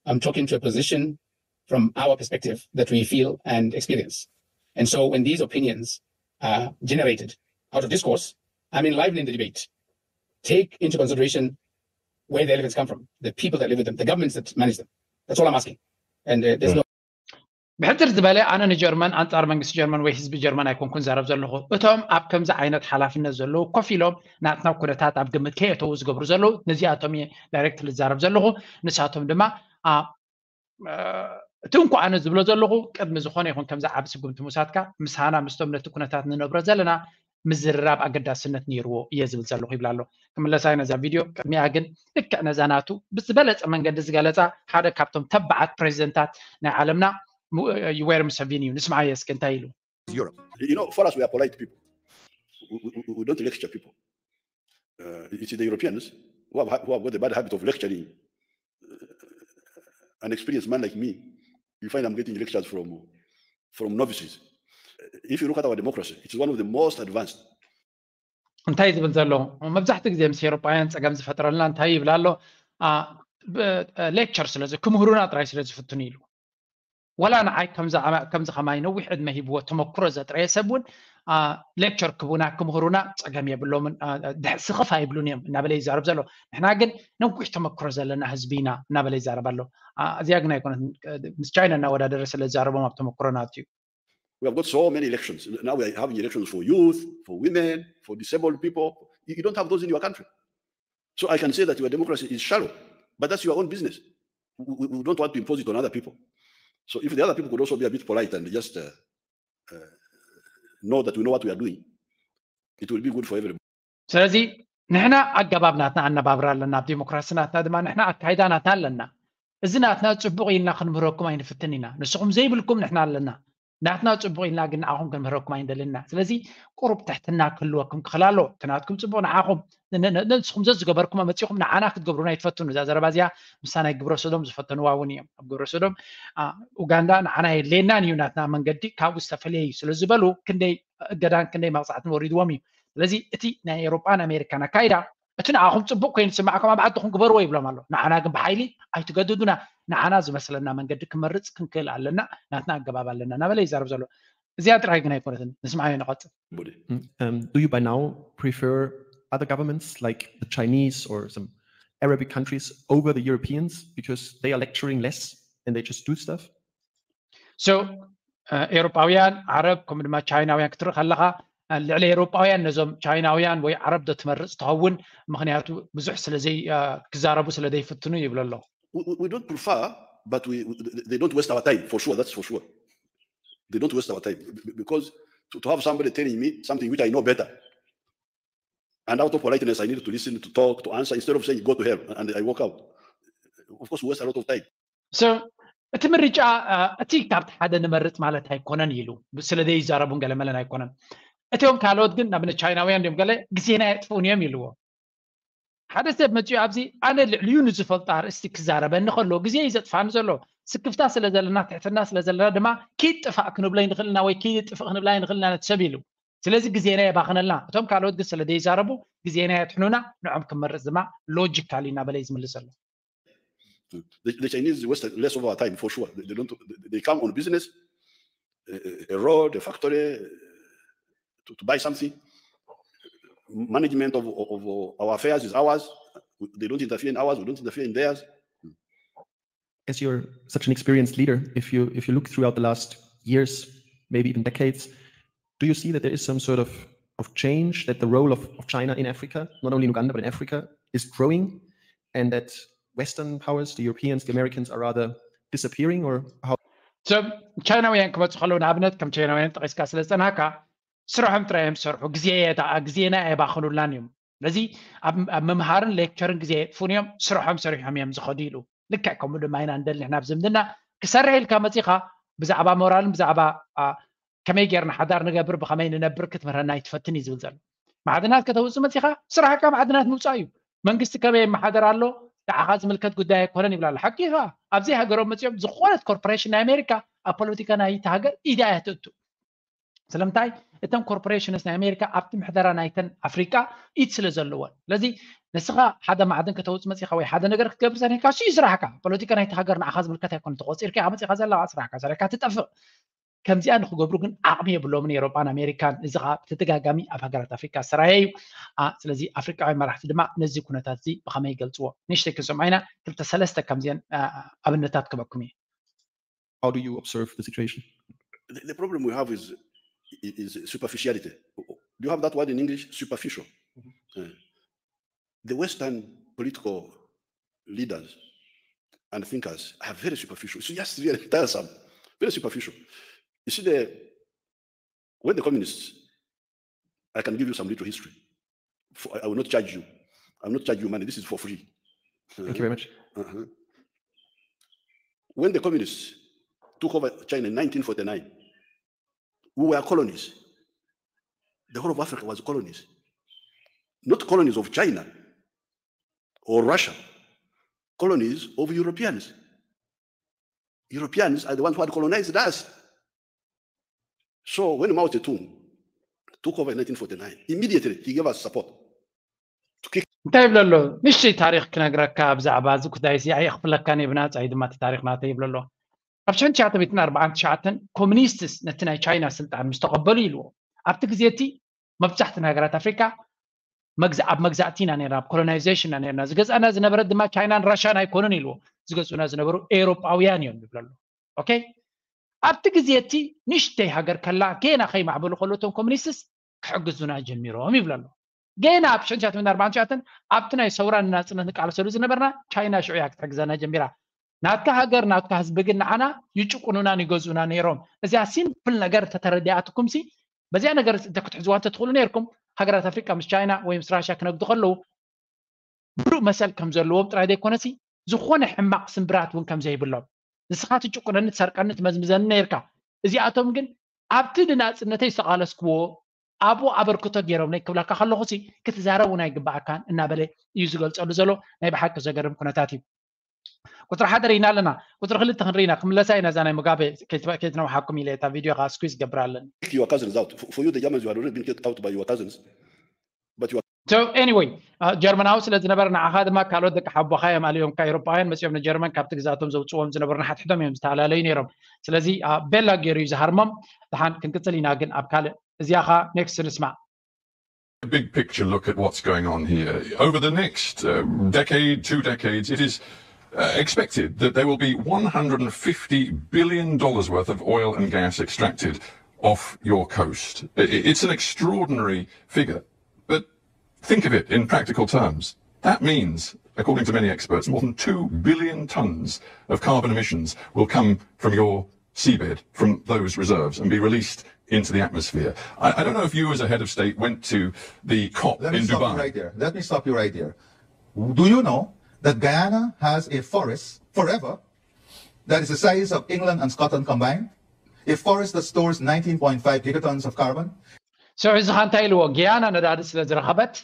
I'm talking to a position from our perspective that we feel and experience. And so when these opinions are generated out of discourse, I'm enlivening the debate. Take into consideration where the elephants come from, the people that live with them, the governments that manage them. That's all I'm asking. And uh, there's no ብሕፅር ዝበለ ኣነ ንጀርመን ኣንፃር መንግስቲ ጀርመን ወይ ህዝቢ ጀርመን ኣይኮንኩን ዛረብ ዘለኹ። እቶም ኣብ ከምዚ ዓይነት ሓላፍነት ዘለዉ ኮፍ ኢሎም ናትና ኩነታት ኣብ ግምት ከየተዉ ዝገብሩ ዘለዉ ነዚኣቶም እየ ዳይሬክት ዝዛረብ ዘለኹ። ንሳቶም ድማ እቲ እንኳ ኣነ ዝብሎ ዘለኹ ቅድሚ ዝኾነ ይኹን ከምዚ ዓብ ስጉምቲ ምውሳድካ ምሳና ምስቶም ነቲ ኩነታት ንነብሮ ዘለና ምዝርራብ ኣገዳስነት ነይርዎ እየ ዝብል ዘለኹ ይብል ኣሎ። ክምለሳ ነዛ ቪድዮ ቅድሚኣ ግን ልክዕ ነዛ ናቱ ብዝበለፀ መንገዲ ዝገለፃ ሓደ ካብቶም ተባዓት ፕሬዚደንታት ናይ ዓለምና ዩዌሪ ሙሰቪኒ እዩ። ንስምዓዮ እስኪ እንታይ ኢሉ። Europe. You know, for us, we are polite people. We, we, we don't lecture people. Uh, it's the Europeans who have, who have got the bad habit of lecturing. Uh, an experienced man like me, you find I'm getting lectures from from novices. If you look at our democracy, it's one of the most advanced. እንታይ ዝብል ዘሎ መብዛሕትኡ ግዜ ምስ ኤሮጳውያን ፀገም ዝፈጥረልና እንታይ ይብል ኣሎ? ሌክቸር ስለዚ ክምህሩና ጥራይ ስለ ዝፍትኑ ኢሉ። ወላ ንዓይ ከምዚ ከማይ ነዊሕ ዕድመ ሂብዎ ተመክሮ ዘጥረየ ሰብ እውን ሌክቸር ክቡና ክምህሩና ፀገም የብሎምን፣ ስኽፍ ኣይብሉን እዮም እናበለ ይዛረብ ዘሎ። ንሕና ግን ነዊሕ ተመክሮ ዘለና ህዝቢ ኢና እናበለ ይዛረብ ኣሎ። እዚኣ ግን ኣይኮነት ምስ ቻይና እናወዳደረ ስለ ዝዛረቦም ኣብ ተመክሮ ናቱ እዩ። We have got so many elections. Now we are having elections for youth, for women, for disabled people. You, you don't have those in your country. So I can say that your democracy is shallow, but that's your own business. We, we don't want to impose it on other people. So if the other people could also be a bit polite and just uh, uh, know that we know what we are doing, it will be good for everybody. ስለዚ ንሕና ኣገባብ ናትና ኣነባብራ ኣለና፣ ኣብ ዲሞክራሲ ናትና ድማ ንሕና ኣካይዳ ናትና ኣለና። እዚ ናትና ጽቡቕ ኢልና ክንምህረኩም ኣይንፍትን ኢና። ንስኹም ዘይብልኩም ንሕና ኣለና። ናትና ጽቡቕ ኢልና ግን ንዓኹም ክንምህረኩም ኣይንደልን ኢና። ስለዚ ቁሩብ ትሕትና ክህልወኩም ክኽእል ኣለዎ። እቲ ናትኩም ጽቡቕ ንዓኹም ንስኹም ዘዝገበርኩም መጺኹም ንዓና ክትገብሩና ኣይትፈትኑ። እዛ ዘረባ እዚኣ ምሳ ናይ ግብረ ሶዶም ዝፈተንዋ እውን እዮም። ኣብ ግብረ ሶዶም ኡጋንዳ ንዓና የድልየናን እዩ ናትና መንገዲ ካብኡ ዝተፈለየ እዩ ስለ ዝበሉ ክንደይ እገዳን ክንደይ መቕጻዕትን ወሪድዎም እዩ። ስለዚ እቲ ናይ ኤውሮጳን ኣሜሪካን ኣካይዳ እቲ ንዓኹም ጽቡቕ ኮይኑ ዝስምዓኩም ኣብ ዓድኹም ግበርዎ ይብሎም ኣሎ። ንዓና ግን ብሓይሊ ኣይትገድዱና፣ ንዓና ዝመስለና መንገዲ ክመርጽ ክንክእል ኣለና፣ ናትና ኣገባብ ኣለና እናበለ ይዛረብ ዘሎ። እዚኣ ጥራይ ግን ኣይኮነትን። ንስምዓዮ ንቐጽል። Mm, um, do you by now prefer other governments like the Chinese or some Arabic countries over the Europeans because they are lecturing less and they just do stuff? So ኤውሮጳውያን፣ ዓረብ፣ ከምኡ ድማ ቻይናውያን ክትርኢ ከለኻ ልዕሊ ኤውሮጳውያን ነዞም ቻይናውያን ወይ ዓረብ ዶ ትመርጽ ትኸውን? ምክንያቱ ብዙሕ ስለዘይ ክዛረቡ ስለ ዘይፍትኑ ይብል ኣሎ። We don't prefer, but we, they don't waste our time for sure. That's for sure. They don't waste our time because to, to have somebody telling me something which I know better, and out of politeness I need to listen, to talk, to answer, instead of saying go to hell and I walk out. Of course we waste a lot of time. So እቲ ምርጫ እቲ ካብቲ ሓደ ንመርጽ ማለት ኣይኮነን ኢሉ ስለ ዘይዛረቡን ገለ መለን ኣይኮነን። እቲኦም ካልኦት ግን ንኣብነት ቻይናውያን ድዮም ገለ ግዜና የጥፍኡን እዮም ኢልዎ። ሓደ ሰብ መጺኡ ኣብዚ ኣነ ልዕሊኡ ንዝፈልጦ ኣርእስቲ ክዛረበኒ ከሎ ግዜ እዩ ዘጥፋኒ ዘሎ። ስክፍታ ስለ ዘለና፣ ትሕትና ስለ ዘለና ድማ ኪድ ጥፋእ ክንብሎ ይንኽእል ኢና ወይ ኪድ ጥፍእ ክንብላ ይንኽእል ኢና ነቲ ሰብ ኢሉ። ስለዚ ግዜና የባኽነልና። እቶም ካልኦት ግን ስለ ዘይዛረቡ ግዜና የጥሕኑና፣ ንዖም ክመርጽ ድማ ሎጂካል እዩ እናበለ እዩ ዝምልስ ዘሎ። The, the Chinese waste less of our time for sure. They, they don't. They come on business, a, a road, a factory, to, to buy something. Management of, of our affairs is ours. They don't interfere in ours. We don't interfere in theirs. As you're such an experienced leader, if you if you look throughout the last years, maybe even decades, do you see that there is some sort of of change, that the role of, of China in Africa, not only in Uganda but in Africa, is growing, and that Western powers, the Europeans, the Americans, are rather disappearing, or how? So ቻይናውያን ክመፁ ከለዉ ንኣብነት ከም ቻይናውያን ጠቂስካ ስለ ዝፀናካ ስርሖም ጥራይ እዮም ዝሰርሑ። ግዜ ግዜና ኣየባኽኑላን እዮም። ስለዚ ኣብ ምምሃርን ሌክቸርን ግዜ የጥፉን እዮም። ስርሖም ሰሪሖም እዮም ዝኸዱ ኢሉ። ልክዕ ከምኡ ድማ ኢና ንደሊ ንሕና ኣብ ዝምድና ክሰርሕ ኢልካ መፂኻ ብዛዕባ ሞራልን ብዛዕባ ከመይ ጌርና ሓዳር ንገብር ብኸመይ ንነብር ክትምህረና ኣይትፈትን እዩ ዝብል ዘሎ። ማዕድናት ከተውፅእ መፂኻ ስራሕካ ማዕድናት ምውፃእ እዩ። መንግስቲ ከመይ የመሓደር ኣሎ ንዓኻ ዝምልከት ጉዳይ ኣይኮነን ይብላ ኣሎ። ሓቂ ኢኻ። ኣብዚ ሃገሮም መፂኦም ዝኾነት ኮርፖሬሽን ናይ ኣሜሪካ ኣብ ፖለቲካ ናይቲ ሃገር ኢዳ እያ ትእቱ። ስለምንታይ እተን ኮርፖሬሽንስ ናይ ኣሜሪካ ኣብቲ ምሕደራ ናይተን ኣፍሪቃ ኢድ ስለ ዘለወን። ስለዚ ንስኻ ሓደ ማዕድን ከተውፅእ መፂኻ ወይ ሓደ ነገር ክትገብር ዘኒካ እሱ እዩ ስራሕካ። ፖለቲካ ናይቲ ሃገር ንዓኻ ዝምልከት ኣይኮነ ተቆፂርካ ኢኻ መፂኻ ዘለካ ስራሕካ ሰሪሕካ ትጠፍእ። ከምዚኣ ንክገብሩ ግን ዓቕሚ የብሎምን ኤሮጳን ኣሜሪካን። እዚ ከዓ ብተደጋጋሚ ኣብ ሃገራት ኣፍሪካ ዝተራየ እዩ። ስለዚ ኣፍሪቃውያን መራሕቲ ድማ ነዚ ኩነታት እዚ ብኸመይ ይገልፅዎ? ንእሽተይ ክንሰምዖ ኢና። ክልተ ሰለስተ ከምዚአን ኣብነታት ክበኩም እዩ። How do you observe the situation? The problem we have is is superficiality. Do you have that word in English? Superficial. The Western political leaders and thinkers are very superficial. It's just very tiresome, very superficial. You see, the when the communists, I can give you some little history. For, I will not charge you. I will not charge you money. This is for free. Thank you very much. Uh-huh. When the communists took over China in nineteen forty-nine, we were colonies. The whole of Africa was colonies. Not colonies of China or Russia, colonies of Europeans. Europeans are the ones who had colonized us. So when Mao Zedong took over in nineteen forty-nine, immediately he gave us support. እንታይ ይብለ ኣሎ? ንእሽተይ ታሪኽ ክነግረካ ብዛዕባ እዚ ጉዳይ እዚ። ኣየኽፍለካን እየ ብናጻ እዩ ድማ እቲ ታሪኽ ናተይ ይብለ ኣሎ። ኣብ ሽሕን ትሽዓተ ሚእትን ኣርባዓን ትሽዓተን ኮሚኒስትስ ነቲ ናይ ቻይና ስልጣን ምስ ተቐበሉ ኢልዎ። ኣብቲ ግዜ እቲ መብዛሕትእን ሃገራት ኣፍሪካ ኣብ መግዛእቲ ኢና ነርና፣ ኣብ ኮሎናይዜሽን ኢና ነርና። ዝገዝኣና ዝነበረ ድማ ቻይናን ራሻን ኣይኮኑን ኢልዎ። ዝገዝኡና ዝነበሩ ኤውሮጳውያን እዮም ይብለ ኣሎ። ኦኬ፣ ኣብቲ ግዜ እቲ ንእሽተይ ሃገር ከላ ገና ከይማዕበሉ ከሎ እቶም ኮሚኒስትስ ክሕግዙና ጀሚሮም ይብለ ኣሎ። ገና ኣብ ሽሕን ትሽዓተ ሚእትን ኣርባዓን ትሽዓተን ኣብቲ ናይ ሰውራ ንናጽነት ንቃለሰሉ ዝነበርና ቻይና ሽዑ እያ ክትሕግዘና ጀሚራ። ናትካ ሃገር ናትካ ህዝቢ ግን ንዓና ይጭቁኑናን ይገዝኡና ነይሮም። እዚኣ ሲምፕል ነገር እንተተረዲኣትኩምሲ በዚኣ ነገር እንተ ክትሕዝዋ እንተትኽእሉ ነይርኩም ሃገራት ኣፍሪቃ ምስ ቻይና ወይ ምስ ራሽያ ክነግዱ ከለዉ ብሩእ መሰል ከም ዘለዎም ጥራይ ዘይኮነሲ ዝኾነ ሕማቕ ስምብራት እውን ከም ዘይብሎም ንስኻ ትጭቁነኒ ትሰርቀኒ ትመዝምዘኒ ነይርካ። እዚኣቶም ግን ኣብቲ ንናጽነተይ ዝተቓለስክዎ ኣብኡ ኣበርክቶ ገይሮምለይ ክብለካ ከለኹሲ ክትዛረብ እውን ኣይግባኣካን እናበለ እዩ ዝገልጸሉ ዘሎ። ናይ ብሓቂ ዘገርም ኩነታት እዩ። ቁፅሪ ሓደ ርኢና ኣለና። ቁፅሪ ክልተ ክንርኢ ኢና። ክምለሳ ኢና እዛ ናይ ሙጋቤ ከይትነውሓኩም ኢለ እታ ቪድዮ ከዓ ስኩዝ ገብር ኣለኒ። Kick your cousins out. For, for you, the Germans, you had already been kicked out by your cousins. But you are So anyway, ጀርመናዊ ስለ ዝነበር ንዓኻ ድማ ካልኦት ደቂ ሓቦኻ እዮም ኣልዮምካ። ኤውሮጳውያን መፂኦም ንጀርመን ካብቲ ግዛቶም ዘውፅዎም ዝነበሩ ንሓትሕቶም እዮም ዝተላለዩ ነይሮም። ስለዚ ቤላ ገይሩ እዩ ዝሃርሞም። ደሓን ክንቅፅል ኢና ግን ኣብ ካልእ እዚኣኻ ኔክስት ንስማዕ። A big picture look at what's going on here. Over the next uh, decade, two decades, it is uh, expected that there will be one hundred fifty billion dollars worth of oil and gas extracted off your coast. It's an extraordinary figure, but think of it in practical terms. That means, according to many experts, more than two billion tons of carbon emissions will come from your seabed, from those reserves, and be released into the atmosphere. I, I don't know if you, as a head of state, went to the COP Let in Dubai. Right there. Let me stop you right there. Do you know that Guyana has a forest forever that is the size of England and Scotland combined? A forest that stores nineteen point five gigatons of carbon. So እዚ እንታይ ኢልዎ? ጊያና ነዳዲ ስለ ዝረኸበት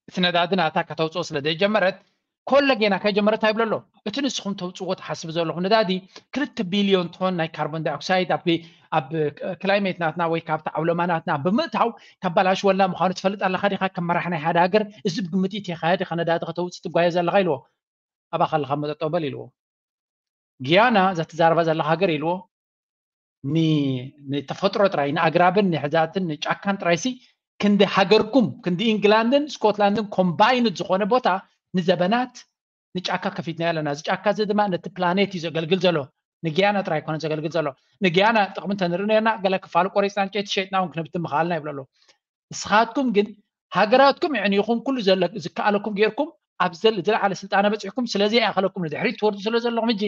እቲ ነዳዲ ናታ ከተውፅኦ ስለ ዘይጀመረት ኮለ ጌና ከይጀመረት ኣይብሎ ኣሎ። እቲ ንስኹም ተውፅዎ ትሓስብ ዘለኹም ነዳዲ ክልተ ቢልዮን ቶን ናይ ካርቦን ዳይኦክሳይድ ኣብ ክላይሜት ናትና ወይ ካብቲ ዓውለማ ናትና ብምእታው ከባላሽወልና ምዃኑ ትፈልጥ ኣለኻ ዲኻ? ከም መራሕ ናይ ሓደ ሃገር እዚ ብግምት ኢትኻ ዲኻ ነዳዲ ከተውፅእ ትጓየ ዘለኻ ኢልዎ። ኣባኻ ኣለኻ መጠጠው በል ኢልዎ። ጊያና እዛ ትዛረባ ዘለኻ ሃገር ኢልዎ ንተፈጥሮ ጥራይ ንኣግራብን ንሕዛትን ንጫካን ጥራይሲ ክንዲ ሃገርኩም ክንዲ ኢንግላንድን ስኮትላንድን ኮምባይንድ ዝኾነ ቦታ ንዘበናት ንጫካ ከፊትና ኣለና። እዚ ጫካ እዚ ድማ ነቲ ፕላኔት እዩ ዘገልግል ዘሎ። ንጊያና ጥራይ ኣይኮነን ዘገልግል ዘሎ። ንጊያና ጥቕሚ እንተንርኢ ነርና ገለ ክፋሉ ቆሪፅና ዕንጨይቲ ሸይጥና እውን ክንብትን ምኽኣልና ይብሎ ኣሎ። ንስኻትኩም ግን ሃገራትኩም የዕኒኹም ኩሉ ዝከኣለኩም ጌርኩም ኣብ ዝለዓለ ስልጣነ በፂሕኩም ስለዚ ይኣኸለኩም ንድሕሪት ትወርዱ ስለ ዘለኹም ሕጂ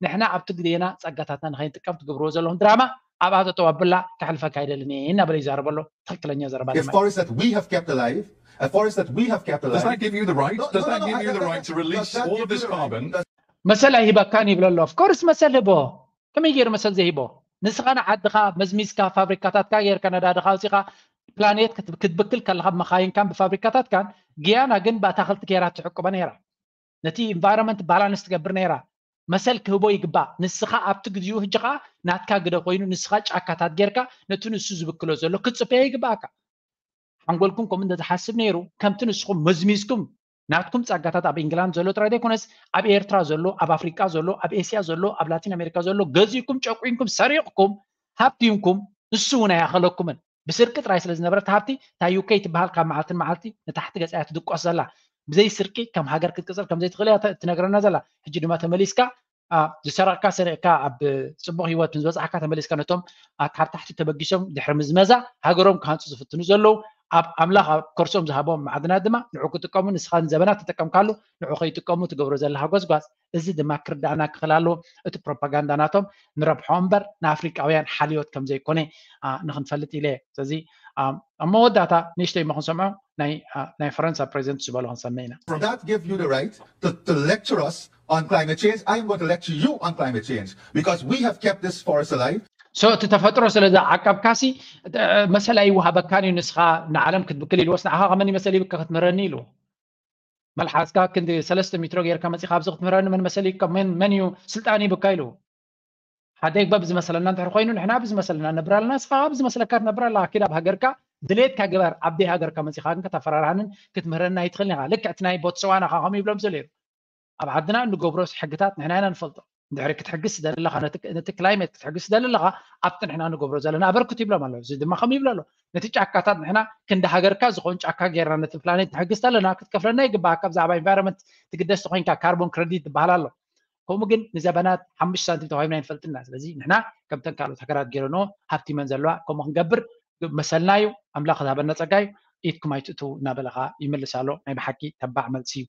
ንሕና ኣብቲ ግዜና ፀጋታትና ንኸይንጥቀም ትገብርዎ ዘለኹም ድራማ ኣብኣ ጠጠው ኣብላ ከሕልፈካ ኣይደልን እየ እናበለ ይዛረበ ኣሎ። ትኽክለኛ ዘረባ A forest that we have kept alive, a forest that we have kept alive. Does that give you the right? Does that give you the right to release all of this carbon? መሰል ኣይሂበካን ይብሎ ኣሎ። Of course መሰል ህቦ። ከመይ ገይሩ መሰል ዘይሂቦ? ንስኻ ንዓድኻ መዝሚዝካ ፋብሪካታትካ ጌርካ ነዳድኻ ኣውፂኻ ፕላኔት ክትብክል ከለኻ ብመኻይንካን ብፋብሪካታትካን ጊያና ግን ብኣታኽልቲ ገይራ ትዕቅቦ ነይራ። ነቲ ኢንቫይሮንመንት ባላንስ ትገብር ነይራ። መሰል ክህቦ ይግባእ። ንስኻ ኣብቲ ግዚኡ ሕጂ ኸዓ ናትካ ግደ ኮይኑ ንስኻ ጫካታት ጌርካ ነቲ ንሱ ዝብክሎ ዘሎ ክትፅበዮ ይግባእካ። ሓንጎልኩም ከምኡ እንተዝሓስብ ነይሩ ከምቲ ንስኹም መዝሚዝኩም ናትኩም ጸጋታት ኣብ ኢንግላንድ ዘሎ ጥራይ ዘይኮነስ ኣብ ኤርትራ ዘሎ ኣብ ኣፍሪቃ ዘሎ ኣብ ኤስያ ዘሎ ኣብ ላቲን ኣሜሪካ ዘሎ ገዚእኩም ጨቁንኩም ሰሪቕኩም ሃብቲምኩም ንሱ እውን ኣይኣኸለኩምን። ብስርቂ ጥራይ ስለ ዝነበረት ሃብቲ እታ ዩኬ ትበሃል ካብ መዓልቲ ንመዓልቲ ንታሕቲ ገጻ እያ ትድቆስ ዘላ። ብዘይ ስርቂ ከም ሃገር ክትቅጽል ከም ዘይትኽእል እያ ትነግረና ዘላ። ሕጂ ድማ ተመሊስካ ዝሰረቕካ ሰሪቕካ ኣብ ጽቡቕ ህይወት ንዝበጻሕካ ተመሊስካ ነቶም ካብ ታሕቲ ተበጊሶም ድሕሪ ምዝመዛ ሃገሮም ክሃንጹ ዝፍትኑ ዘለዉ ኣብ ኣምላኽ ኣብ ከርሶም ዝሃቦም ማዕድናት ድማ ንዑ ክጥቀሙ ንስኻ ንዘበናት ተጠቀምካሉ ንዑ ከይጥቀሙ ትገብሮ ዘለኻ ጎዝጓዝ እዚ ድማ ክርዳእና ክኽእል ኣለዎ። እቲ ፕሮፓጋንዳ ናቶም ንረብሖ እምበር ንኣፍሪቃውያን ሓልዮት ከም ዘይኮነ ንኽንፈልጥ ኢለ እየ። ስለዚ ኣብ መወዳእታ ንእሽተይ እሞ ክንሰምዖ ናይ ፈረንሳ ፕሬዚደንት ዝበሎ ክንሰምዕ ኢና። That give you the right to, to lecture us on climate change. I am going to lecture you on climate change because we have kept this forest alive. So እቲ ተፈጥሮ ስለ ዝዓቀብካሲ መሰል ኣይወሃበካን እዩ። ንስኻ ንዓለም ክትብክል ኢልዎስ ንዓኻ ከመን ይመሰል ይብካ ክትምህረኒ ኢልዎ። መልሓስካ ክንዲ ሰለስተ ሜትሮ ጌርካ መጺኻ ኣብዚ ክትምህረኒ መን መሰል ይብካ? መን እዩ ስልጣን ይብካ ኢልዎ። ሓደ ይግባእ ብዝመሰለና እንድሕር ኮይኑ ንሕና ብዝመሰለና ነብር ኣለና ንስኻ ብዝመስለካ ትነብር ኣለኻ። ኪድ ኣብ ሃገርካ ድሌትካ ግበር። ኣብ ደይ ሃገርካ መጺኻ ግን ከተፈራርሃንን ክትምህረና ኣይትኽእልን ኢኻ። ልክዕ እቲ ናይ ቦትስዋና ኻ ከምኡ ይብሎም ዘሎ ነይሩ። ኣብ ዓድና እንገብሮ ሕግታት ንሕና ኢና ንፈልጦ። እንድሕሪ ክትሕግዝ ትደሊ ኣለኻ ነቲ ክላይሜት ክትሕግዝ ትደሊ ኣለኻ ኣብቲ ንሕና ንገብሮ ዘለና ኣበርክት ይብሎም ኣለዉ። እዚ ድማ ከም ይብሎ ኣሎ ነቲ ጫካታት ንሕና ክንዲ ሃገርካ ዝኾን ጫካ ጌርና ነቲ ፕላኔት ንሕግዝ ተለና ክትከፍለና ይግባኣካ። ብዛዕባ ኢንቫይሮንመንት ትግደስ ተኮይንካ ካርቦን ክረዲት ዝበሃል ኣሎ። ከምኡ ግን ንዘበናት ሓሙሽተ ሳንቲም ተዋሂብና ኣይንፈልጥና። ስለዚ ንሕና ከምተን ካልኦት ሃገራት ገይረንኦ ሃብቲመን ዘለዋ ከምኡ ክንገብር መሰልና እዩ። ኣምላኽ ዝሃበና ጸጋ እዩ። ኢድኩም ኣይትእትዉ እናበለ ኸዓ ይምልስ ኣሎ። ናይ ብሓቂ ተባዕ መልሲ እዩ።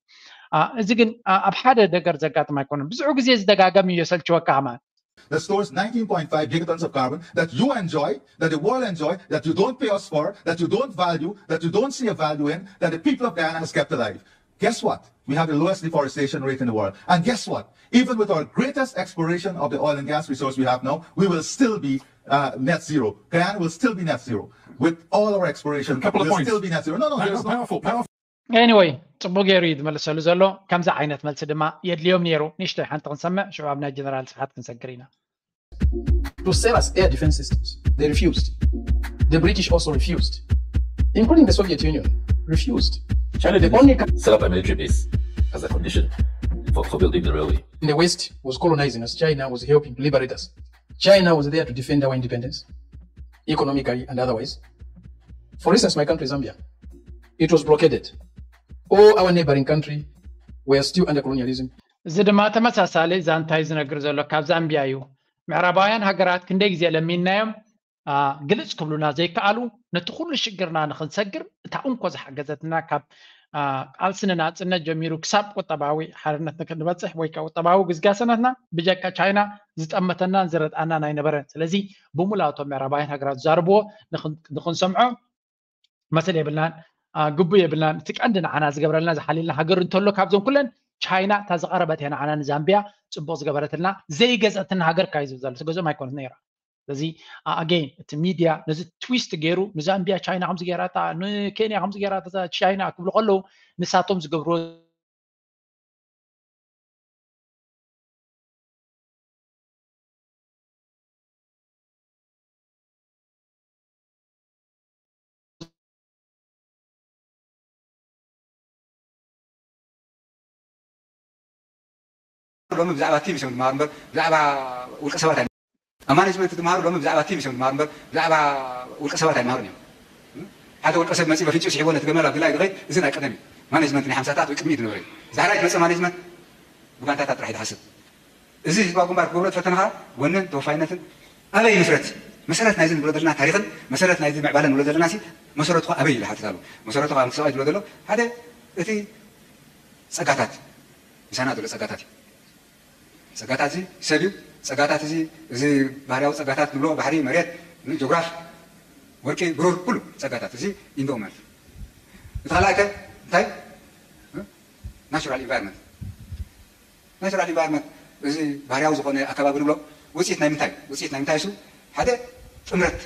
እዚ ግን ኣብ ሓደ ነገር ዘጋጥም ኣይኮነን። ብዙሕ ግዜ ዝደጋገም እዩ የሰልችወካ ከማን። That stores nineteen point five gigatons of carbon that you enjoy, that the world enjoy, that you don't pay us for, that you don't value, that you don't see a value in, that the people of Guyana has kept alive. Guess what? We have the lowest deforestation rate in the world. And guess what? Even with our greatest exploration of the oil and gas resource we have now, we will still be uh, net zero. Guyana will still be net zero. With all our exploration, Couple of we'll points. still be net zero. No, no, Power, there's no. powerful, powerful. Anyway ጽቡቅ ገይሩ እዩ ዝመልሰሉ ዘሎ። ከምዚ ዓይነት መልሲ ድማ የድልዮም ነይሩ። ንእሽተይ ሓንቲ ክንሰምዕ ሽዑ ኣብ ናይ ጀነራል ስብሓት ክንሰግር ኢና። To sell us air defense systems. They refused. The British also refused, including the Soviet Union, refused. China did only set up a military base as a condition for, for building the railway. The West was colonizing us. China was helping to liberate us. China was there to defend our independence, economically and otherwise. For instance, my country, Zambia, it was blockaded. All our neighboring country were still under colonialism. እዚ ድማ ተመሳሳሊ ዛንታይ ዝነግር ዘሎ ካብ ዛምቢያ እዩ። ምዕራባውያን ሃገራት ክንደይ ግዜ ለሚንናዮም ግልጽ ክብሉና ዘይከኣሉ፣ ነቲ ኩሉ ሽግርና ንኽንሰግር እታ እንኮ ዝሓገዘትና ካብ ቃልሲ ንናጽነት ጀሚሩ ክሳብ ቁጠባዊ ሓርነት ንክንበጽሕ ወይ ከዓ ቁጠባዊ ግስጋሰናትና ብጀካ ቻይና ዝጠመተናን ዝረድኣናን ኣይነበረን። ስለዚ ብሙላቶም ምዕራባውያን ሃገራት ዝዛረብዎ ንኽንሰምዖ መሰል የብልናን፣ ግቡ የብልናን። እቲ ቀንዲ ንዓና ዝገብረልና ዝሓልየልና ሃገር እንተሎ ካብዞም ኩለን ቻይና እታ ዝቐረበት እያ ንዓና ንዛምቢያ ጽቡቕ ዝገበረትልና። ዘይገዘትና ሃገር ካዩ ዝብል ዘሎ ትገዝኦም ኣይኮነት ነይራ። ስለዚ ኣገይን እቲ ሚድያ ነዚ ትዊስት ገይሩ ንዛምቢያ ቻይና ከምዚ ገይራታ ንኬንያ ከምዚ ገይራታ ቻይና ክብሉ ከለዉ ንሳቶም ዝገብርዎ ሎሚ ብዛዕባ ቲም እዮም ዝመሃሩ እምበር ብዛዕባ ውልቀ ሰባት ኣይ ኣብ ማኔጅመንት ትመሃሩ ሎሚ ብዛዕባ ቲም እዮም ዝመሃሩ እምበር ብዛዕባ ውልቀ ሰባት ኣይመሃሩን እዮም። ሓደ ውልቀ ሰብ መፂ በፍንጭ ስሒቦ ነቲ ገመል ኣብ ድላይ ዝኸይድ እዚ ናይ ቀደም እዩ። ማኔጅመንት ናይ ሓምሳታት ወይ ቅድሚኡ ዝነበረ እዩ። ዛሕራይ ትመፅእ ማኔጅመንት ብጋንታታት ጥራሕ እዩ ዝሓስብ። እዚ ህዝባዊ ግንባር ክገብሮ ዝፈተነ ከዓ ወንን ተወፋይነትን ኣበይ ይምስረት? መሰረት ናይዚ ንብሎ ዘለና ታሪኽን መሰረት ናይዚ ምዕባለ ንብሎ ዘለና ሲ መሰረቱ ከዓ ኣበይ ኢሉ ሓትት ኣሎ። መሰረቱ ከዓ ምክሰባት ዝብሎ ዘሎ ሓደ እቲ ፀጋታት ምሳና ዘሎ ፀጋታት እዩ። ፀጋታት እዚ ሰብ እዩ። ፀጋታት እዚ እዚ ባህርያዊ ፀጋታት ንብሎ ባሕሪ፣ መሬት፣ ጆግራፍ፣ ወርቂ፣ ብሩር፣ ኩሉ ፀጋታት እዚ ኢንዶ ማለት እዩ። እቲ ካልኣይ ከ እንታይ ናቹራል ኢንቫይሮንመንት ናቹራል ኢንቫይሮንመንት እዚ ባህርያዊ ዝኾነ ኣከባቢ ንብሎ ውፅኢት ናይ ምንታይ ውፅኢት ናይ ምንታይ እሱ ሓደ ጥምረት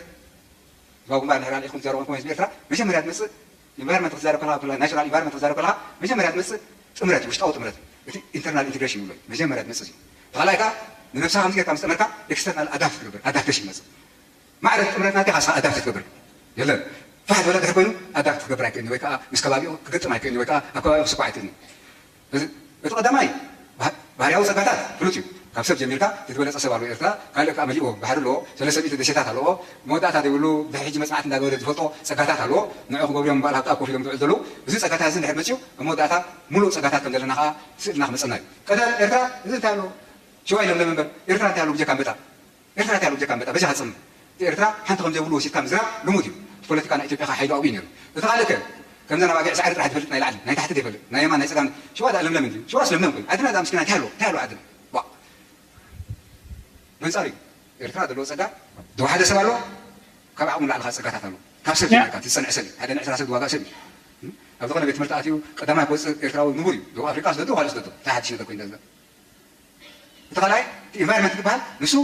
ህዝባዊ ግንባር ንሕና ኢኹም ትዛረቡ ኮሚስ ኤርትራ መጀመርያ ትመፅእ ኢንቫይሮንመንት ክትዛረብ ከለካ ናቹራል ኢንቫይሮንመንት ክትዛረብ ከለካ መጀመርያ ትመፅእ ጥምረት ውሽጣዊ ጥምረት እቲ ኢንተርናል ኢንቴግሬሽን ይብሎ መጀመርያ ትመፅእ እዩ ካልኣይ ከዓ ንነብስኻ ከምዚ ጌርካ ምስ ጠመርካ ኤክስተርናል ኣዳፕት ትገብር ኣዳፕቴሽን ይመፅእ ማዕረ ጥምረት ናትካ ስኻ ኣዳፕት ትገብር የለን ፋሕ ዝበለ ድሕር ኮይኑ ኣዳፕት ክገብር ኣይክእልን ወይ ከዓ ምስ ከባቢኡ ክገጥም ኣይክእልን ወይ ከዓ ኣብ ከባቢኡ ክስኳዕ ኣይክእልን እቲ ቀዳማይ ባህርያዊ ፀጋታት ፍሉጥ እዩ ካብ ሰብ ጀሚርካ እቲ ዝበለፀ ሰብ ኣለዎ ኤርትራ ካልእ ከዓ መሊእዎ ባሕሪ ኣለዎ ሰለስተ ሚእቲ ደሴታት ኣለዎ መወዳእታ ዘይብሉ ድሕሪ ሕጂ መፅናዕቲ እንዳገበረ ዝፈልጦ ፀጋታት ኣለዎ ንዑ ክገብርዮም ምባል ሃብጣብ ኮፍ ኢሎም ዝውዕል ዘለዉ እዚ ፀጋታት እዚ እንድሕር መፅዩ ኣብ መወዳእታ ሙሉእ ፀጋታት ከም ዘለና ከዓ ስእልና ክመፀና እዩ ቀዳም ኤርትራ እዚ እንታይ ኣለዎ ሽዋ ኢሎም ለመንበር ኤርትራ እንታይ ኣለዎ ብጀካ ኣንበጣ ኤርትራ እንታይ ኣለዎ ብጀካ ኣንበጣ በጃኻ ፅም እቲ ኤርትራ ሓንቲ ከም ዘይብሉ ወሲድካ ምዝራብ ልሙድ እዩ እቲ ፖለቲካ ናይ ኢትዮጵያ ከ ሓይሉ ኣብኡ እዩ ነይሩ እቲ ካልእ ከ ከምዘን ኣባጊዕ ሳዕሪ ጥራሕ ትፈልጥ ናይ ላዕሊ ናይ ታሕቲ ዘይፈልጥ ናይ የማን ናይ ፀጋም ሽዋ ደኣ ለምለም እንድዩ ሽዋስ ለምለም ኮይኑ ዓድና ደኣ ምስኪና እንታይ ኣለዎ እንታይ ኣለዎ ዓድና ዋ በንፃር እዩ ኤርትራ ዘለዎ ፀጋ ዝወሓደ ሰብ ኣሎ ካብ ዓቕሙ ንላዕሊ ከዓ ፀጋታት ኣሎ ካብ ሰብ ጀሚርካ እቲ ዝፀንዐ ሰብ እዩ ሓደ ንዕስራ ሰብ ዝዋጋእ ሰብ እዩ ኣብ ዝኾነ ቤት ትምህርቲ ኣትዩ ቀዳማይ ክወፅእ ኤርትራዊ ንቡር እዩ ደቡብ ኣፍሪቃ ስደዶ ካልእ ስደዶ እንታይ ሓድሽ ነገር ኮይኑ ዳዝጋ እቲ ካልኣይ እቲ ኢንቫይሮንመንት ዝበሃል ንሱ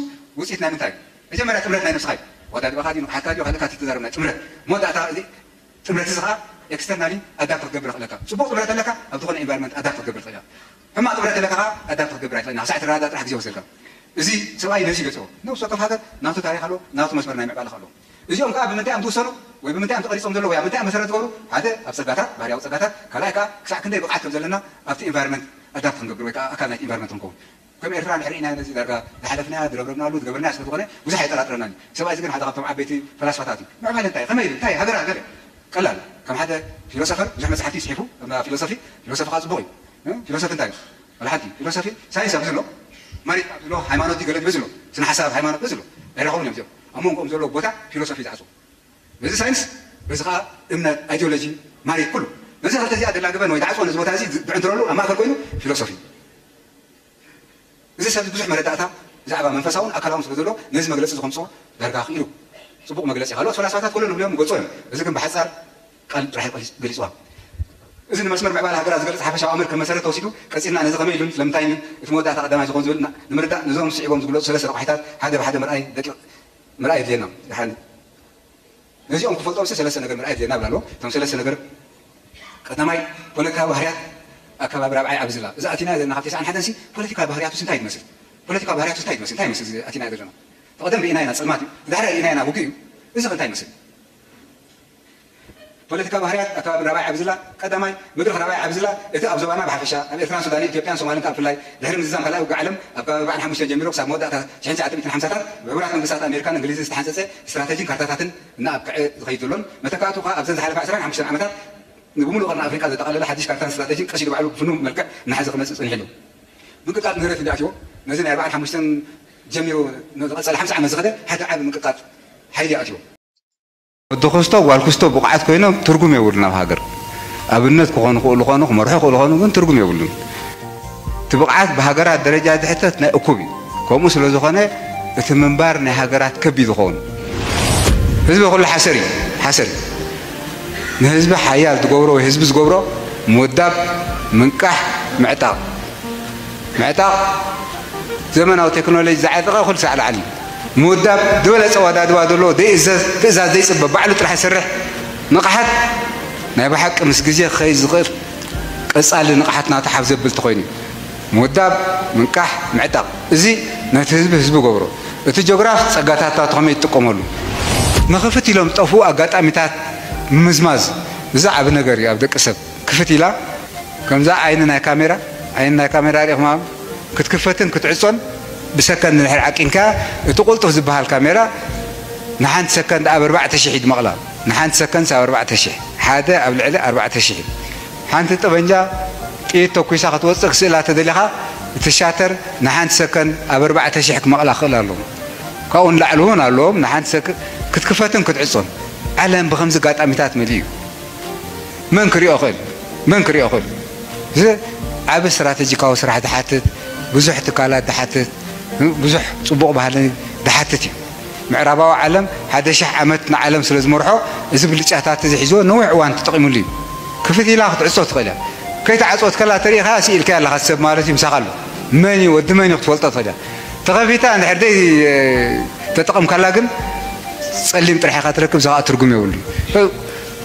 ውፅኢት ናይ ምንታይ እዩ መጀመርያ ጥምረት ናይ ነብስኻ እዩ ዋዳ ድባኻ ድዩ ንቕሓትካ ድዩ ካልእካ ትዛረብ ናይ ጥምረት መወዳእታ እዚ ጥምረት እዚ ከዓ ኤክስተርናሊ ኣዳፕት ክትገብር ይኽእለካ ፅቡቕ ጥምረት ኣለካ ኣብ ዝኾነ ኢንቫይሮንመንት ኣዳፕት ክትገብር ትኽእል ሕማቕ ጥምረት ኣለካ ከዓ ኣዳፕት ክትገብር ኣይትኽእል ክሳዕ ትረዳዳ ጥራሕ ግዜ ወሰድካ እዚ ሰብኣይ ነዚ ይገልፅዎ ነብሲ ወከፍ ሃገር ናቱ ታሪክ ኣለዎ ናቱ መስመር ናይ ምዕባለ ኣለዎ እዚኦም ከዓ ብምንታይ እዮም ትውሰኑ ወይ ብምንታይ እዮም ተቐሪፆም ዘለዉ ወይ ኣብ ምንታይ እዮም መሰረት ዝገብሩ ሓደ ኣብ ፀጋታት ባህርያዊ ፀጋታት ካልኣይ ከዓ ክሳዕ ክንደይ ብቕዓት ከም ዘለና ኣብቲ ኢንቫይሮንመንት ኣዳፕት ክንገብር ወይ ከዓ ኣካል ናይቲ ኢንቫይሮንመንት ክንከውን ከም ኤርትራ ንሕሪ ኢና ነዚ ዳርጋ ዝሓለፍናያ ዝረብረብናሉ ዝገበርናያ ስለ ዝኾነ ብዙሕ ኣይጠራጥረናን እዩ ሰብኣይ እዚ ግን ሓደ ካብቶም ዓበይቲ ፈላስፋታት እዩ ምዕባለ እንታይ ከመይ እንታይ ሃገር ሃገር ቀላል ከም ሓደ ፊሎሶፈር ብዙሕ መፅሓፍቲ ይፅሒፉ ፊሎሶፊ ፊሎሶፊ ከዓ ፅቡቕ እዩ ፊሎሶፊ እንታይ እዩ ወላ ሓንቲ ፊሎሶፊ ሳይንስ ኣብዚ ኣሎ ማሪት ኣብዚ ኣሎ ሃይማኖት ገለ ድበዚ ኣሎ ስነ ሓሳብ ሃይማኖት በዚ ኣሎ ኣይረኸቡን እዮም እዚኦም ኣብ መንጎኦም ዘሎ ቦታ ፊሎሶፊ ዝዓፅዎ በዚ ሳይንስ በዚ ከዓ እምነት ኣይዲዮሎጂ ማሪት ኩሉ ነዚ ክልተ እዚኣ ደላግበን ወይ ዝዓፅዎ ነዚ ቦታ እዚ ብዕንትረሉ ኣብ ማእከል ኮይኑ ፊሎሶፊ እዚ ሰብ ብዙሕ መረዳእታ ብዛዕባ መንፈሳውን ኣካላውን ስለ ዘሎ ነዚ መግለፂ ዝኸምፅኦ ዳርጋ ክኢሉ ፅቡቕ መግለፂ ካልኦት ፈላስፋታት ኩለን ንብልዮም ይገልፆ እዮም እዚ ግን ብሓፃር ቃል ጥራሕ ገሊፅዋ እዚ ንመስመር ምዕባለ ሃገራት ዝገልፅ ሓፈሻዊ ኣምር ከም መሰረት ተወሲዱ ቀፂልና ነዚ ከመይ ኢሉን ስለምንታይን እቲ መወዳእታ ቀዳማይ ዝኾን ዝብል ንምርዳእ ነዞም ስዒቦም ዝግለፁ ሰለስተ ረቋሒታት ሓደ ብሓደ ምርኣይ ደቂቕ ምርኣይ የድልየና ድሓን ነዚኦም ክፈልጦም ሰለስተ ነገር ምርኣይ የድልየና ብላ ኣለዎ እቶም ሰለስተ ነገር ቀዳማይ ፖለቲካዊ ባህርያት ኣከባቢ ራብዓይ ኣብዚ ላ እዚ ኣቲና ዘለና ካብ ተስዓን ሓደን ሲ ፖለቲካዊ ባህርያቱስ እንታይ ትመስል ፖለቲካዊ ባህርያቱስ እንታይ ትመስል እንታይ ይመስል ኣቲና ዘለና ተቐደም ርኢና ኢና ፀልማት እዩ ዳሕሪ ርኢና ኢና ውግእ እዩ እዚ እንታይ ይመስል ፖለቲካ ባህርያት ኣብ ከባቢ ራብዓይ ዓቢ ዝላ ቀዳማይ፣ መድረኽ ራብዓይ ዓቢ ዝላ እቲ ኣብ ዞባና ብሓፈሻ፣ ኣብ ኤርትራን ሱዳንን ኢትዮጵያን ሶማልን ከኣ ብፍላይ ድሕሪ ምዝዛም ካልኣይ ውግእ ዓለም ኣብ ከባቢ ኣርባዓን ሓሙሽተን ጀሚሩ ክሳብ መወዳእታ ሽሕን ትሽዓተ ሚእትን ሓምሳታት ብሕቡራት መንግስታት ኣሜሪካን እንግሊዝን ዝተሓንጸጸ ስትራተጂን ካርታታትን እናኣብቅዐ ዝኸይድ ዘሎን መተካእቱ ከኣ ኣብዘን ዝሓለፋ ዕስራን ሓሙሽተን ዓመታት ንብምሉእ ቀርኒ ኣፍሪቃ ዘጠቓለለ ሓድሽ ካርታን ስትራተጂን ቀስ ኢሉ ባዕሉ ብፍኑው መልክዕ እናሓዘ ክመጽእ ጸኒሑ ኣሎ። ምንቅጥቃጥ ምህረት እንዲ ኣትዎ ነዚ ናይ ኣርባዓን ሓሙሽተን ጀሚሩ ንዝቐጸለ ሓምሳ ዓመት ዝኸደ ሓደ ዓቢ ምንቅጥቃጥ ሓይሊ ኣትዎ። ወዲ ክስቶ ጓል ክስቶ ብቑዓት ኮይኖም ትርጉም የብሉን ኣብ ሃገር። ኣብነት ክኾኑ ክእሉ ኾኑ ክመርሑ ክእሉ ኾኑ ግን ትርጉም የብሉን። እቲ ብቕዓት ብሃገራት ደረጃ ዝሕተት ናይ እኩብ እዩ። ከምኡ ስለ ዝኾነ እቲ ምንባር ናይ ሃገራት ከቢድ ይኸውን። ህዝቢ ኩሉ ሓሰር እዩ፣ ሓሰር እዩ። ንህዝቢ ሓያል ዝገብሮ ወይ ህዝቢ ዝገብሮ ምውዳብ፣ ምንቃሕ፣ ምዕጣቕ። ምዕጣቕ ዘመናዊ ቴክኖሎጂ ዝዓጠቐ ኩሉ ሳዕ ላዕሊ እዩ። ምውዳብ ዝበለጸ ኣወዳድባ ዘለዎ ዘይእዘዝ ትእዛዝ ዘይጽበ ባዕሉ ጥራሕ ይሰርሕ ንቕሓት ናይ ብሓቂ ምስ ግዜ ክኸይድ ዝኽእል ቀጻሊ ንቕሓት ናቱ ሓፍ ዘብል ተኾይኑ እዩ። ምውዳብ፣ ምንቃሕ፣ ምዕጣቕ እዚ ነቲ ህዝቢ ህዝቢ ገብሮ። እቲ ጆግራፍ ጸጋታት ናቱ ከመይ ይጥቀመሉ ንኽፍት ኢሎም ዝጠፍኡ ኣጋጣሚታት ምምዝማዝ እዚ ዓቢ ነገር እዩ ኣብ ደቂ ሰብ። ክፍት ኢላ ከምዛ ዓይኒ ናይ ካሜራ ዓይኒ ናይ ካሜራ ሪእኹማ ክትክፈትን ክትዕጾን ብሰከንድ ንድሕር ዓቂንካ እቲ ቁልጡፍ ዝበሃል ካሜራ ንሓንቲ ሰከንድ ኣብ ኣርባዕተ ሽሕ እዩ ዝመቕላ። ንሓንቲ ሰከንድ ኣብ ኣርባዕተ ሽሕ ሓደ ኣብ ልዕሊ ኣርባዕተ ሽሕ እዩ። ሓንቲ ጠበንጃ ጥይት ተኩሳ ክትወፅእ ክስእላ ተደሊኻ እቲ ሻተር ንሓንቲ ሰከንድ ኣብ ኣርባዕተ ሽሕ ክመቕላ ክኽእል ኣለዎ። ካብኡ ንላዕሊ እውን ኣለዎም። ንሓንቲ ሰከንድ ክትክፈትን ክትዕጾን ዓለም ብከምዚ ኣጋጣሚታት መሊኡ እዩ። መን ክሪኦ ክእል መን ክሪኦ ክእል እዚ ዓቢ ስትራተጂካዊ ስራሕ ዝሓትት ብዙሕ ትካላት ዝሓትት ብዙሕ ጽቡቕ ባህሊ ዝሓትት እዩ። ምዕራባዊ ዓለም ሓደ ሽሕ ዓመት ንዓለም ስለ ዝመርሖ እዚ ብልጫታት እዚ ሒዝዎ ነዊሕ እዋን ተጠቒሙሉ እዩ። ክፍት ኢላ ክትዕጾ ትኽእል እያ። ከይተዓጽወት ከላ ተሪኢኻ ስኢልካ ኣለኻ ሰብ ማለት እዩ ምሳኻ ኣሎ። መን እዩ ወዲ መን እዩ ክትፈልጦ ትኽእል እያ። ተኸፊታ እንድሕር ደይ ተጠቐምካላ ግን ጸሊም ጥራሕ ኢኻ ትረክብ። እዚ ኸኣ ትርጉም የብሉ።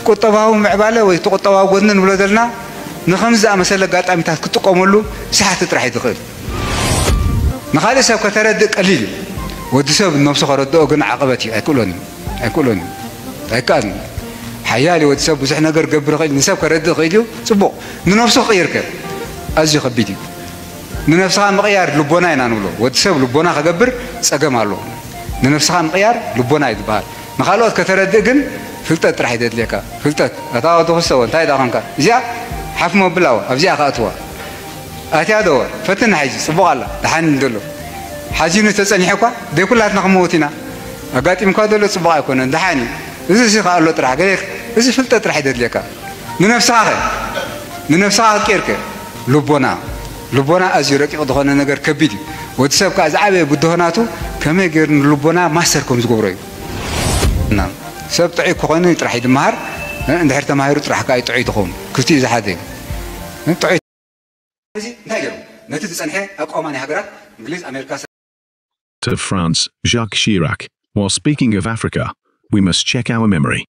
ቁጠባዊ ምዕባለ ወይ እቲ ቁጠባዊ ጎድኒ ንብሎ ዘለና ንኸምዚ ዝኣመሰለ ኣጋጣሚታት ክትጥቀመሉ ሰሓቲ ጥራሕ እዩ ዝኽእል። ንኻልእ ሰብ ከተረድእ ቀሊል እዩ። ወዲ ሰብ ነብሱ ከረድኦ ግን ዓቐበት እዩ። ኣይክእሎን እዩ። ኣይክእሎን እዩ። ኣይከኣልን እዩ። ሓያል እዩ ወዲ ሰብ ብዙሕ ነገር ክገብር ይኽእል እዩ። ንሰብ ከረድእ ይኽእል እዩ። ጽቡቕ። ንነብሱ ክቕይር ከ ኣዝዩ ከቢድ እዩ። ንነብስኻ ምቕያር ልቦና ኢና ንብሎ። ወዲ ሰብ ልቦና ክገብር ጸገም ኣለዎ። ንነብስኻ ምቕያር ልቦና እዩ ዝበሃል። ንኻልኦት ከተረድእ ግን ፍልጠት ጥራሕ እዩ ዘድልየካ። ፍልጠት። ኣታ ወዲ ክስተ እንታይ ደኣ ኾንካ? እዚኣ ሓፍ መብላዋ ኣብዚኣ ከኣትዋ። ኣትያ ዶ ፈትና ሕጂ ጽቡቕ ኣላ። ደሓን እዩ ዘሎ። ሓዚኑ ተጸኒሑ እኳ ደይ ኩላትና ክመውት ኢና። ኣጋጢምካ ዘሎ ጽቡቕ ኣይኮነን። ደሓን እዩ። እዚ እዚ ከኣ ኣሎ ጥራሕ። ገለ እዚ ፍልጠት ጥራሕ እዩ ዘድልየካ። ንነብስኻ ኸ? ንነብስኻ ክትቅይር ከ? ልቦና። ልቦና ኣዝዩ ረቂቕ ዝኾነ ነገር ከቢድ እዩ። ወዲ ሰብ ከኣ ዝዓበየ ብድሆ ናቱ ከመይ ገይሩ ንልቦና ማስተር ከም ዝገብሮ እዩ። እና ሰብ ጥዑይ ክኾይኑ ጥራሕ እዩ ዝመሃር። እ፣ እንድሕር ተማሂሩ ጥራሕ ከኣ እዩ ጥዑይ ትኸውን። ክልቲኡ ዝሓዘ እዩ። እ፣ ጥዑይ እዚ እንታይ ገይሩ? ነቲ ዝጸንሐ ኣቋውማ ናይ ሃገራት እንግሊዝ፣ ኣሜሪካ፣ of France, Jacques Chirac, while speaking of Africa, we must check our memory.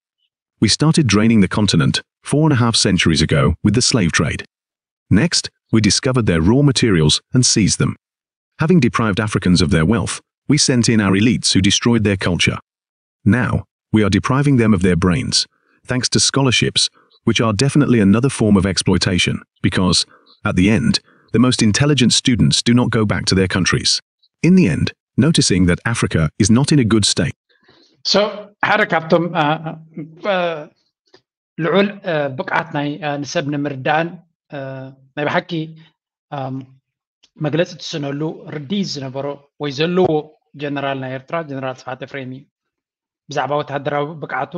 We started draining the continent four and a half centuries ago with the slave trade. Next, we discovered their raw materials and seized them. Having deprived Africans of their wealth, we sent in our elites who destroyed their culture. Now, we are depriving them of their brains, thanks to scholarships, which are definitely another form of exploitation, because, at the end, the most intelligent students do not go back to their countries. In the end, noticing that Africa is not in a good state. So ሓደ ካብቶም ልዑል ብቕዓት ናይ ንሰብ ንምርዳእን ናይ ብሓቂ መግለፂ ትስነሉ ርድኢት ዝነበሮ ወይ ዘለዎ ጀነራል ናይ ኤርትራ ጀነራል ስብሓት ኤፍሬም እዩ። ብዛዕባ ወተሃደራዊ ብቕዓቱ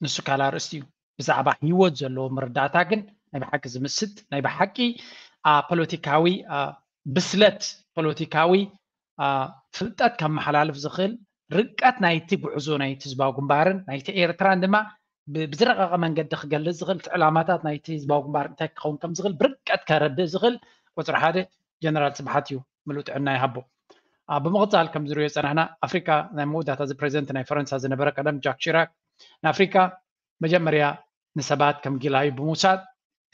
ንሱ ካልእ ኣርእስቲ እዩ። ብዛዕባ ህይወት ዘለዎ መረዳእታ ግን ናይ ብሓቂ ዝምስጥ ናይ ብሓቂ ፖለቲካዊ ብስለት ፖለቲካዊ ፍልጠት ከመሓላልፍ ዝኽእል ርቀት ናይቲ ጉዕዞ ናይቲ ህዝባዊ ግንባርን ናይቲ ኤርትራን ድማ ብዝረቐቐ መንገዲ ክገልጽ ዝኽእል እቲ ዕላማታት ናይቲ ህዝባዊ ግንባር እንታይ ክኸውን ከም ዝኽእል ብርቀት ከረድእ ዝኽእል ቁፅሪ ሓደ ጀነራል ስብሓት እዩ። ምሉእ ጥዕና ይሃቦ። ብምቕፃል ከም ዝሪኦ ዝፀናሕና ኣፍሪካ ናይ መወዳእታ እዚ ፕሬዚደንት ናይ ፈረንሳ ዝነበረ ቀደም ጃክ ሺራክ ንኣፍሪካ መጀመርያ ንሰባት ከም ጊላዩ ብምውሳድ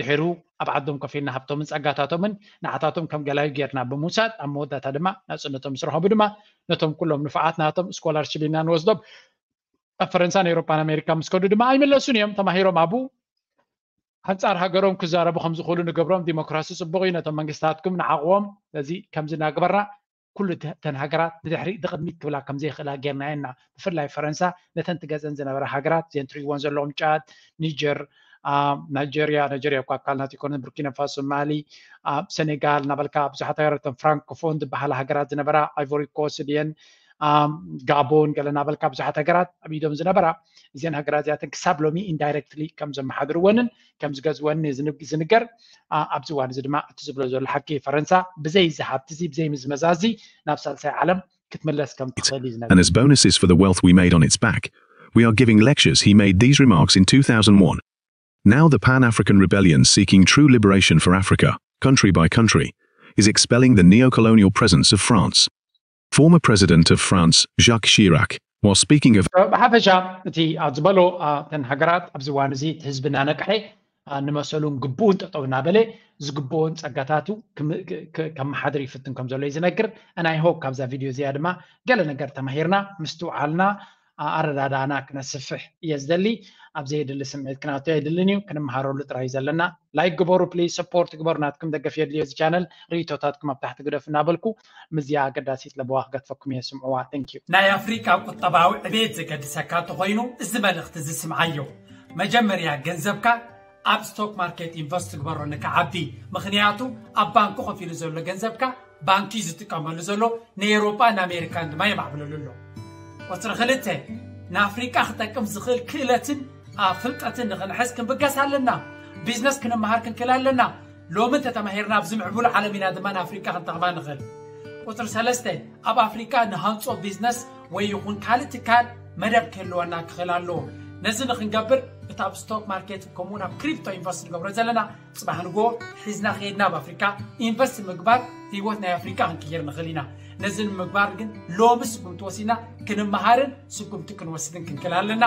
ድሕሩ ኣብ ዓዶም ኮፍ ኢልና ሃብቶምን ጸጋታቶምን ንዓታቶም ከም ገላዩ ጌርና ብምውሳድ ኣብ መወዳእታ ድማ ናጽነቶም ምስ ረኸቡ ድማ ነቶም ኩሎም ንፉዓት ናቶም ስኮላርሽፕ ኢና ንወስዶም ኣብ ፈረንሳን ኤውሮፓን ኣሜሪካ ምስ ከዱ ድማ ኣይምለሱን እዮም ተማሂሮም ኣብኡ ኣንጻር ሃገሮም ክዛረቡ ከም ዝኽእሉ ንገብሮም ዲሞክራሲ ጽቡቕ እዩ፣ ነቶም መንግስታትኩም ንዓቕዎም። ስለዚ ከምዚ እናገበርና ኩሉ ተ- ተን ሃገራት ንድሕሪ ንቕድሚት ክብላ ከም ዘይኽእላ ጌርና ኢና። ብፍላይ ፈረንሳ ነተን ትገዘን ዝነበራ ሃገራት፣ እዘን ትሪእዎን ዘለኹም፣ ጫድ፣ ኒጀር፣ ናይጀርያ፣ ናይጀርያ እኳ ኣካል ናት ይኮነን፣ ቡርኪና ፋሶ፣ ማሊ፣ ሰኔጋል እናበልካ ብዙሓት ሃገራት፣ እተን ፍራንኮፎን ዝበሃላ ሃገራት ዝነበራ፣ ኣይቮሪ ኮስት ድየን፣ ጋቦን፣ ገለ እናበልካ ብዙሓት ሃገራት ኣብ ኢዶም ዝነበራ፣ እዘን ሃገራት እዚኣተን ክሳብ ሎሚ ኢንዳይረክትሊ ከም ዘመሓድርወንን ከም ዝገዝወንን እዩ ዝንገር። ኣብዚ እዋን እዚ ድማ እቲ ዝብሎ ዘሎ ሓቂ፣ ፈረንሳ ብዘይ እዚ ሃብቲ እዚ፣ ብዘይ ምዝመዛ እዚ ናብ ሳልሳይ ዓለም ክትምለስ ከም ትኽእል እዩ ዝነግር። And as bonuses for the wealth we made on its back, we are giving lectures. He made these remarks in two thousand one. Now the Pan African rebellion seeking true liberation for Africa, country by country, is expelling the neo colonial presence of France. Former President of France, Jacques Chirac, while speaking of ብሓፈሻ እቲ ኣብ ዝበሎ እተን ሃገራት ኣብዚ እዋን እዚ እቲ ህዝቢ እናነቅሐ ንመሰሉን ግቡኡን ጠጠው እናበለ ዝግብኦን ጸጋታቱ ከመሓድር ይፍትን ከም ዘሎ እዩ ዝነግር። ናይ ሆፕ ካብዛ ቪድዮ እዚኣ ድማ ገለ ነገር ተማሂርና ምስትውዓልና ኣረዳዳእና ክነስፍሕ እየ ዝደሊ። ኣብ ዘየድሊ ስምዒት ክናቱ ኣይድልን እዩ። ክንመሃረሉ ጥራይ እዩ ዘለና። ላይክ ግበሩ ፕሊዝ፣ ሰፖርት ግበሩ። ናትኩም ደገፍ የድልዮ እዚ ቻነል። ርእቶታትኩም ኣብ ታሕቲ ግደፉ እናበልኩ ምስዚኣ ኣገዳሲት ለበዋ ክገድፈኩም እየ። ስምዕዋ። Thank you። ናይ ኣፍሪቃ ቁጠባዊ ዕቤት ዘገድሰካ እንተኾይኑ እዚ መልእኽቲ እዚ ስምዓዮ። መጀመርያ ገንዘብካ ኣብ ስቶክ ማርኬት ኢንቨስት ግበሮ ንክዓቢ። ምኽንያቱ ኣብ ባንኪ ኮፍ ኢሉ ዘሎ ገንዘብካ ባንኪ ዝጥቀመሉ ዘሎ ንኤውሮጳ ንኣሜሪካን ድማ የማዕብለሉ ኣሎ። ቁፅሪ ክልተ ንኣፍሪቃ ክጠቅም ዝኽእል ክእለትን ፍልጠትን ንኽንሕዝ ክንብገስ ኣለና። ቢዝነስ ክንመሃር ክንክእል ኣለና። ሎሚ እንተተማሂርና ኣብዚ ምዕቡል ዓለም ኢና ድማ ንኣፍሪቃ ክንጠቕማ ንኽእል። ቁፅሪ ሰለስተ ኣብ ኣፍሪቃ ንሃንፆ ቢዝነስ ወይ ይኹን ካልእ ትካል መደብ ክህልወና ክኽእል ኣለዎ። ነዚ ንክንገብር እቲ ኣብ ስቶክ ማርኬት ከምኡ ናብ ክሪፕቶ ኢንቨስት ንገብሮ ዘለና ጽባሕ ንጎ ሒዝና ከይድና ኣብ ኣፍሪካ ኢንቨስት ምግባር ህይወት ናይ ኣፍሪካ ክንቅይር ንኽእል ኢና። ነዚ ንምግባር ግን ሎሚ ስጉምቲ ወሲና ክንመሃርን ስጉምቲ ክንወስድን ክንክእል ኣለና።